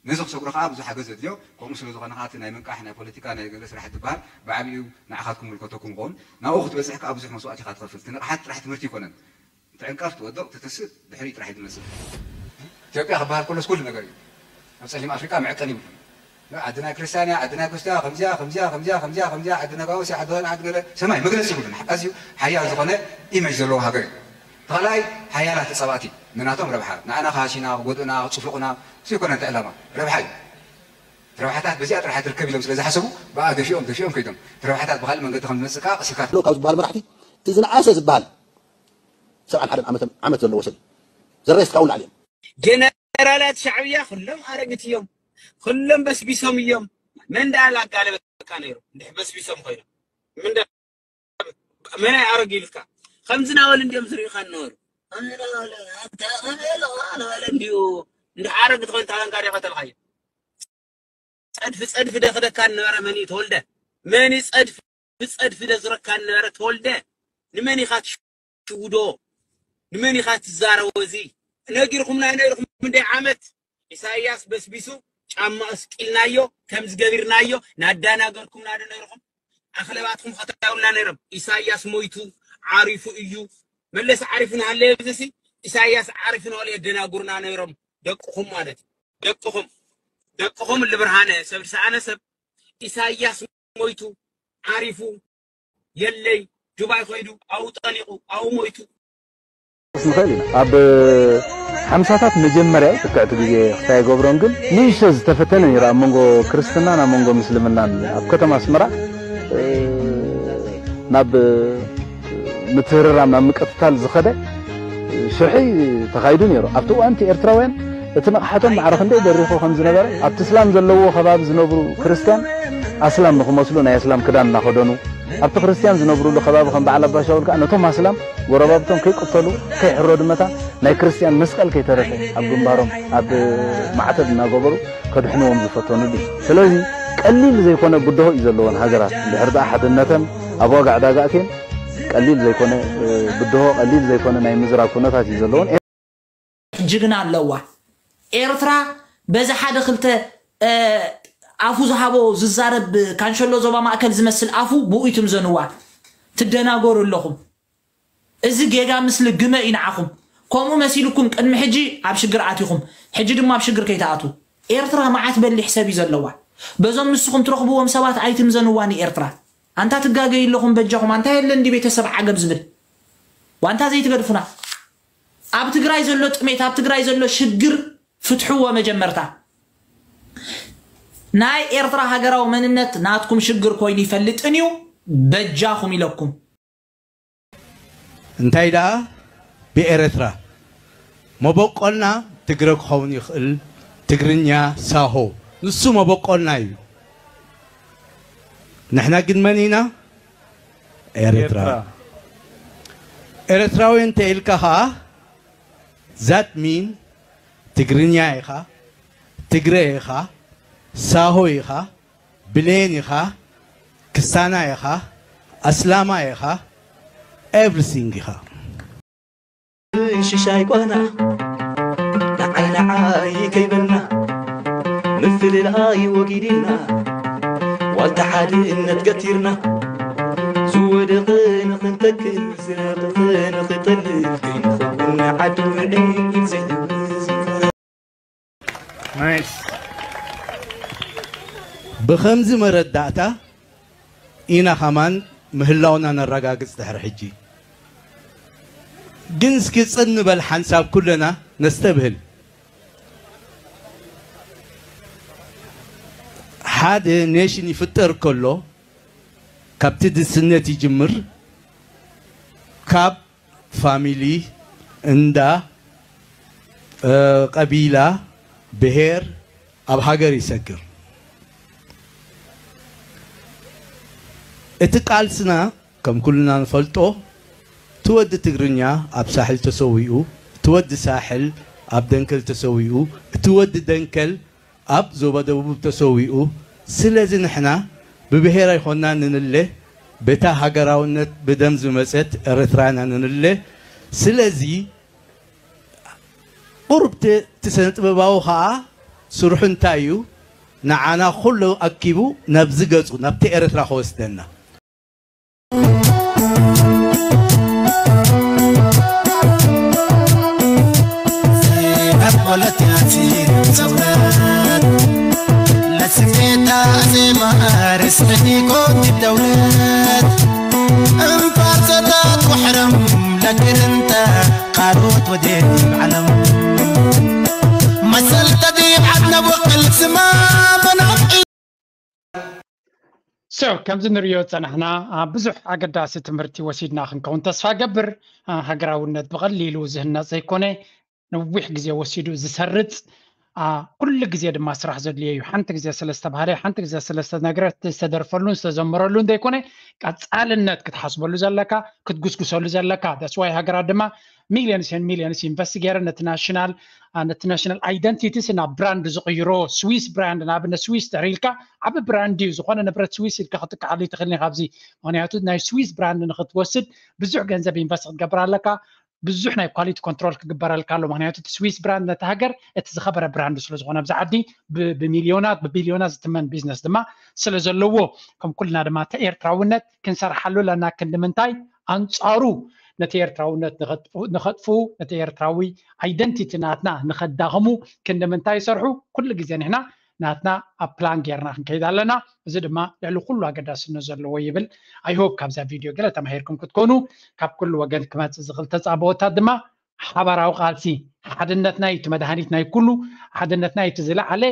ነዚ ክሰግሮ ከዓ ብዙሕ ሓገዝ ዘድልዮ። ከምኡ ስለ ዝኾነ ከዓ እቲ ናይ ምንቃሕ ናይ ፖለቲካ ናይ ገለ ስራሕ ትበሃል ብዓብዩ ንዓኻትኩም ምልከተኩም ይኸውን። ናብኡ ክትበፅሕ ከዓ ብዙሕ መስዋእቲ ኢኻ ትኸፍል። እቲ ንቕሓት ጥራሕ ትምህርቲ ኣይኮነን። ትዕንቀፍ፣ ትወድቕ፣ ትትስእ፣ ድሕሪኡ ጥራሕ እዩ ዝመጽእ። ኢትዮጵያ ክበሃል ከሎስ ኩሉ ነገር እዩ። ኣብ ጸሊም ኣፍሪቃ መዐቀኒ ይብሉ። ዓዲ ናይ ክርስትያን እያ፣ ዓዲ ናይ ክርስትያን ከምዚያ ከምዚያ ከምዚያ ከምዚያ ከምዚያ ዓዲ ነጋውስ ዓዲ ሆን ዓዲ ገለ ሰማይ መግለጺ ይብሉን ኣዝዩ ሓያል ዝኾነ ኢሜጅ ዘለዎ ሃገር እዩ። ተኻላይ ሓያላት ተጻባእቲ ንናቶም ረብሓ ንኣና ክሃሲና ክጎድኡና ክጽፍቑና ዘይኮነ እቲ ዕላማ ረብሓ እዩ። ረብሓታት በዚኣ ጥራሕ ትርከብ ኢሎም ስለ ዝሓሰቡ ብኣ ገፊኦም ገፊኦም ከይዶም እቲ ረብሓታት ብካልእ መንገዲ ከም ዝመጽእ ከዓ ቀሲልካ ካብ ዝበሃል መራሕቲ እቲ ዝነኣሰ ዝበሃል ሰብዓን ሓደን ዓመት ዘለዎ ሰብ ዘረስካ እውን ላዕሊ እዮም። ጀነራላት ሻዕብያ ኩሎም ኣረግት እዮም። ኩሎም በስቢሶም እዮም። መን ደኣ ላጋለበካ ነይሩ? እንድሕ በስቢሶም ኮይኖም። ምን ደ- መን ኣይ ኣረግ ኢልካ? ከምዚ ናበል እንዲዮም ዝርእኻ ነበሩ። ከምዚ ናበል ኣታ ከመይ ኣለኻ ናበል እንዲዩ እንድሕ ኣረግ ትኾን ታበንካ ዲኻ ተልኻዮ? ጸድፊ ጸድፊ ደኽደካ ነበረ መን እዩ ተወልደ? መን እዩ ጸድፊ ብጸድፊ ደዝረካ ነበረ ተወልደ ንመን ኢኻ ትሽውዶ ንመን ኢኻ ትዛረቦ እዚ ነጊርኩምና ነይርኩም እንደ ዓመት ኢሳያስ በስቢሱ ጫማ እስቂልናዮ ከም ዝገቢርናዮ ናዳናገርኩምና ዶ ነይርኩም ኣኽለባትኩም ኸታውልና ነይሮም ኢሳያስ ሞይቱ ዓሪፉ እዩ መለስ ዓሪፉ ንሃለየ ብዝሲ ኢሳያስ ዓሪፉ ንበለ የደናጉርና ነይሮም ደቅኹም ማለት እዩ ደቅኹም ደቅኹም ልብርሃነ ሰብ ዝሰኣነ ሰብ ኢሳያስ ሞይቱ ዓሪፉ የለይ ዱባይ ኸይዱ ኣብኡ ጠሊቑ ኣብኡ ሞይቱ። ንኽእል ኢና ኣብ ሓምሳታት መጀመርያ ትክዕቲ ግዜ ክስታይ ይገብሮን ግን ንእሽቶ ዝተፈተነ ነይሩ ኣብ መንጎ ክርስትናን ኣብ መንጎ ምስልምናን ኣብ ከተማ ኣስመራ ናብ ምትህርራም ናብ ምቅትታል ዝኸደ ሽርሒ ተኻይዱ ነይሩ ኣብቲ እዋንቲ ኤርትራውያን እቲ ንቕሓቶም ማዕረ ክንደይ በሪኹ ከም ዝነበረ ኣብቲ እስላም ዘለዎ ከባቢ ዝነብሩ ክርስትያን ኣስላም ንኽመስሉ ናይ ኣስላም ክዳን እናኸደኑ ኣብቲ ክርስትያን ዝነብሩሉ ከባቢ ከም በዓል ኣባሻውል ከዓ ነቶም ኣስላም ጎረባብቶም ከይቅተሉ ከይሕረዱ መታን ናይ ክርስትያን መስቀል ከይተረፈ ኣብ ግንባሮም ኣብ ማዕተብ እናገበሩ ከድሕንዎም ዝፈተኑሉ እዩ። ስለዚ ቀሊል ዘይኮነ ብድሆ እዩ ዘለወን ሃገራት እንድሕር ደኣ ሓድነተን ኣብ ዋጋ ዕዳጋ ኣትየን ቀሊል ዘይኮነ ብድሆ ቀሊል ዘይኮነ ናይ ምዝራብ ኩነታት እዩ ዘለወን። ጅግና ኣለዋ ኤርትራ በዚ ሓደ ክልተ ኣፉ ዝሃቦ ዝዛረብ ካንሸሎ ዞባ ማእከል ዝመስል ኣፉ ብኡ ይትምዘንዋ ትደናገሩ ኣለኹም እዚ ጌጋ ምስሊ ግመ እዩ ንዓኹም ከምኡ መሲልኩም ቅድሚ ሕጂ ኣብ ሽግር ኣቲኹም ሕጂ ድማ ኣብ ሽግር ከይትኣትዉ ኤርትራ መዓት በሊሕ ሰብ እዩ ዘለዋ በዞም ንስኹም ትረኽብዎም ሰባት ኣይትምዘንዋ ንኤርትራ ኣንታ ትጋገዩ ኣለኹም በጃኹም ኣንታ የለን ድዩ ቤተሰብ ዓገብ ዝብል ዋንታ ዘይትገድፉና። ኣብ ትግራይ ዘሎ ጥሜት፣ ኣብ ትግራይ ዘሎ ሽግር ፍትሕዎ መጀመርታ። ናይ ኤርትራ ሃገራዊ መንነት ናትኩም ሽግር ኮይኑ ይፈልጥን እዩ። በጃኹም ኢለኩም። እንታይ ደኣ ብኤረትራ መበቆልና ትግረ ክኸውን ይኽእል፣ ትግርኛ፣ ሳሆ፣ ንሱ መበቆልና እዩ። ንሕና ግን መን ኢና? ኤረትራ። ኤረትራዊ እንተ ኢልካ ኸኣ ዛት ሚን ትግርኛ ኢኻ፣ ትግረ ኢኻ፣ ሳሆ ኢኻ፣ ብሌን ኢኻ፣ ክስታና ኢኻ፣ ኣስላማ ኢኻ፣ ኤቭሪቲንግ ኢኻ። ሽሻይ ጓና ንዓይ ንዓይ ከይበልና ምፍልላይ ወጊድና ዋልታ ሓድነት ገቲርና ዝወደቐ ንኽንተክእ ዝረቐቐ ንኽጠልል ከይንኸውን ንዓዲ ውዕል ዘይሕግዝ ብኸምዚ መረዳእታ ኢና ኸማን ምህላውና ነረጋግጽ ድሕሪ ሕጂ። ግን እስኪ ጽን ንበል ሓንሳብ ኩልና ነስተብህል። ሓደ ኔሽን ይፍጠር ከሎ ካብቲ ድስነት ይጅምር፣ ካብ ፋሚሊ፣ እንዳ፣ ቀቢላ፣ ብሄር ኣብ ሃገር ይሰግር። እቲ ቃልስና ከም ኩልና ንፈልጦ እቲ ወዲ ትግርኛ ኣብ ሳሕል ተሰዊኡ፣ እቲ ወዲ ሳሕል ኣብ ደንከል ተሰዊኡ፣ እቲ ወዲ ደንከል ኣብ ዞባ ደቡብ ተሰዊኡ። ስለዚ ንሕና ብብሄር ኣይኮንና ንንለ፣ በታ ሃገራውነት ብደም ዝመጸት ኤርትራ ኢና ንንለ። ስለዚ ቁሩብ እቲ ስነ ጥበባዊ ኸኣ ስርሑ እንታይ እዩ? ንዓና ኩሉ ኣኪቡ ናብዚ ገጹ ናብቲ ኤርትራ ክወስደና። ለስሜታ ዜማ ርስሒ ኮን ደውለት እንፋርሰታት ወሕረም ለግርንተ ካልኦት ወዴት ዓለም መሰል ተዲብ ዓድና ወቅል ስማ መናፍቂ So ከምዚ ንሪኦ ዝፀናሕና ብዙሕ ኣገዳሲ ትምህርቲ ወሲድና ክንከውን ተስፋ ገብር። ሃገራውነት ብቐሊሉ ዝህነፅ ዘይኮነ ነዊሕ ግዜ ወሲዱ ዝሰርፅ ኩሉ ግዜ ድማ ስራሕ ዘድልዮ እዩ። ሓንቲ ግዜ ስለ ዝተባህለ ሓንቲ ግዜ ስለ ዝተነግረ ዝተደርፈሉን ዝተዘመረሉን ዘይኮነ ቀፃልነት ክትሓስበሉ ዘለካ ክትጉስጉሰሉ ዘለካ that's why ሃገራት ድማ millions and millions invest ገይረን ነቲ national ነቲ national identities ናብ brand ዝቕይሮ ስዊስ brand ንኣብነት ስዊስ ድሕሪ ኢልካ ዓቢ brand እዩ። ዝኾነ ንብረት ስዊስ ኢልካ ክትጥቅዓሉ ይትኽእል ኢኻ ኣብዚ ምክንያቱ ናይ ስዊስ brand ንክትወስድ ብዙሕ ገንዘብ invest ክትገብር ኣለካ። ብዙሕ ናይ quality control ክግበረልካ ኣሎ ምክንያቱ እቲ ስዊስ brand ነቲ ሃገር እቲ ዝኸበረ brand ስለ ዝኾነ ኣብዚ ዓዲ ብሚልዮናት ብቢልዮናት ዝትመን business ድማ ስለ ዘለዎ ከም ኩልና ድማ እቲ ኤርትራውነት ክንሰርሓሉ ኣለና ክንዲ ምንታይ ኣንጻሩ ነቲ ኤርትራውነት ንኸጥፍኡ ነቲ ኤርትራዊ identity ናትና ንኸዳኽሙ ክንዲ ምንታይ ይሰርሑ ኩሉ ግዜ ንሕና ናትና ኣብ plan ጌርና ክንከይድ ኣለና። እዚ ድማ ልዕሊ ኩሉ ኣገዳስነት ዘለዎ ይብል። I hope ካብዛ ቪድዮ ገለ ተማሂርኩም ክትኮኑ ካብ ኩሉ ወገን ክመጽእ ዝኽእል ተጻብኦታት ድማ ሓባራዊ ቃልሲ ሓድነትና እዩ እቲ መድሃኒት ናይ ኩሉ። ሓድነትና እዩ እቲ ዝለዓለ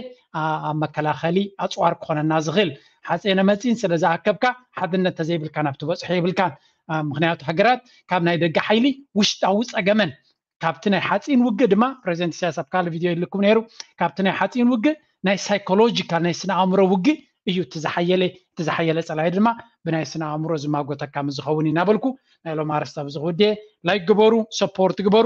ኣብ መከላኸሊ ኣፅዋር ክኾነና ዝኽእል። ሓፂነ መፂን ስለ ዝኣከብካ ሓድነት ተዘይብልካ ናብ ትበፅሖ የብልካን። ምክንያቱ ሃገራት ካብ ናይ ደገ ሓይሊ ውሽጣዊ ፀገመን ካብቲ ናይ ሓፂን ውግእ ድማ ፕሬዚደንት ኢሳያስ ኣብ ካልእ ቪድዮ ይልኩም ነይሩ። ካብቲ ናይ ሓፂን ውግእ ናይ ሳይኮሎጂካል ናይ ስነ ኣእምሮ ውግእ እዩ እቲ ዝሓየለ እቲ ዝሓየለ ፀላኢ ድማ ብናይ ስነ ኣእምሮ ዝማጎተካ ምስ ዝኸውን እዩ እናበልኩ ናይ ሎም ኣርስታ ብዚ ክውድየ ላይክ ግበሩ ሰፖርት ግበሩ።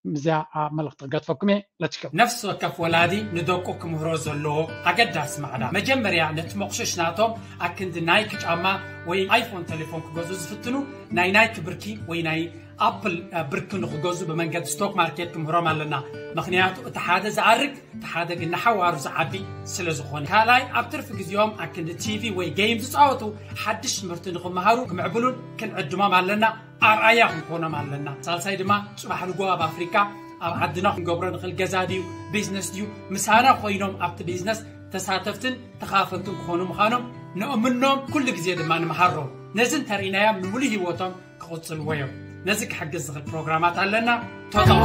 እዚኣ መልእኽቲ ክገድፈኩም እየ። Let's go። ነፍሲ ወከፍ ወላዲ ንደቁ ክምህሮ ዘለዎ ኣገዳሲ ማዕዳ መጀመርያ ነቲ መቑሽሽ ናቶም ኣክንዲ ናይክ ጫማ ወይ ኣይፎን ቴሌፎን ክገዝኡ ዝፍትኑ ናይ ናይክ ብርኪ ወይ ናይ ኣፕል ብርኪ ንክገዝኡ ብመንገዲ ስቶክ ማርኬት ክምህሮም ኣለና። ምክንያቱ እቲ ሓደ ዝኣርግ እቲ ሓደ ግን ንሓዋሩ ዝዓቢ ስለ ዝኾነ። ካልኣይ ኣብ ትርፊ ግዜኦም ኣክንዲ ቲቪ ወይ ጌም ዝፃወቱ ሓድሽ ትምህርቲ ንክመሃሩ ክምዕብሉን ክንዕድሞም ኣለና። ኣርኣያ ክንኮኖም ኣለና። ሳልሳይ ድማ ፅባሕ ንጎ ኣብ ኣፍሪካ ኣብ ዓድና ክንገብሮ ንኽእል ገዛ ድዩ ቢዝነስ ድዩ ምሳና ኮይኖም ኣብቲ ቢዝነስ ተሳተፍትን ተኻፈልትን ክኾኑ ምዃኖም ንእምኖም ኩሉ ግዜ ድማ ንምሃሮም ነዚ እንተርኢናዮም ንምሉእ ህይወቶም ክቕፅልዎ እዮም። ነዚ ክሕግዝ ዝኽእል ፕሮግራማት ኣለና። ተጠቐሙ።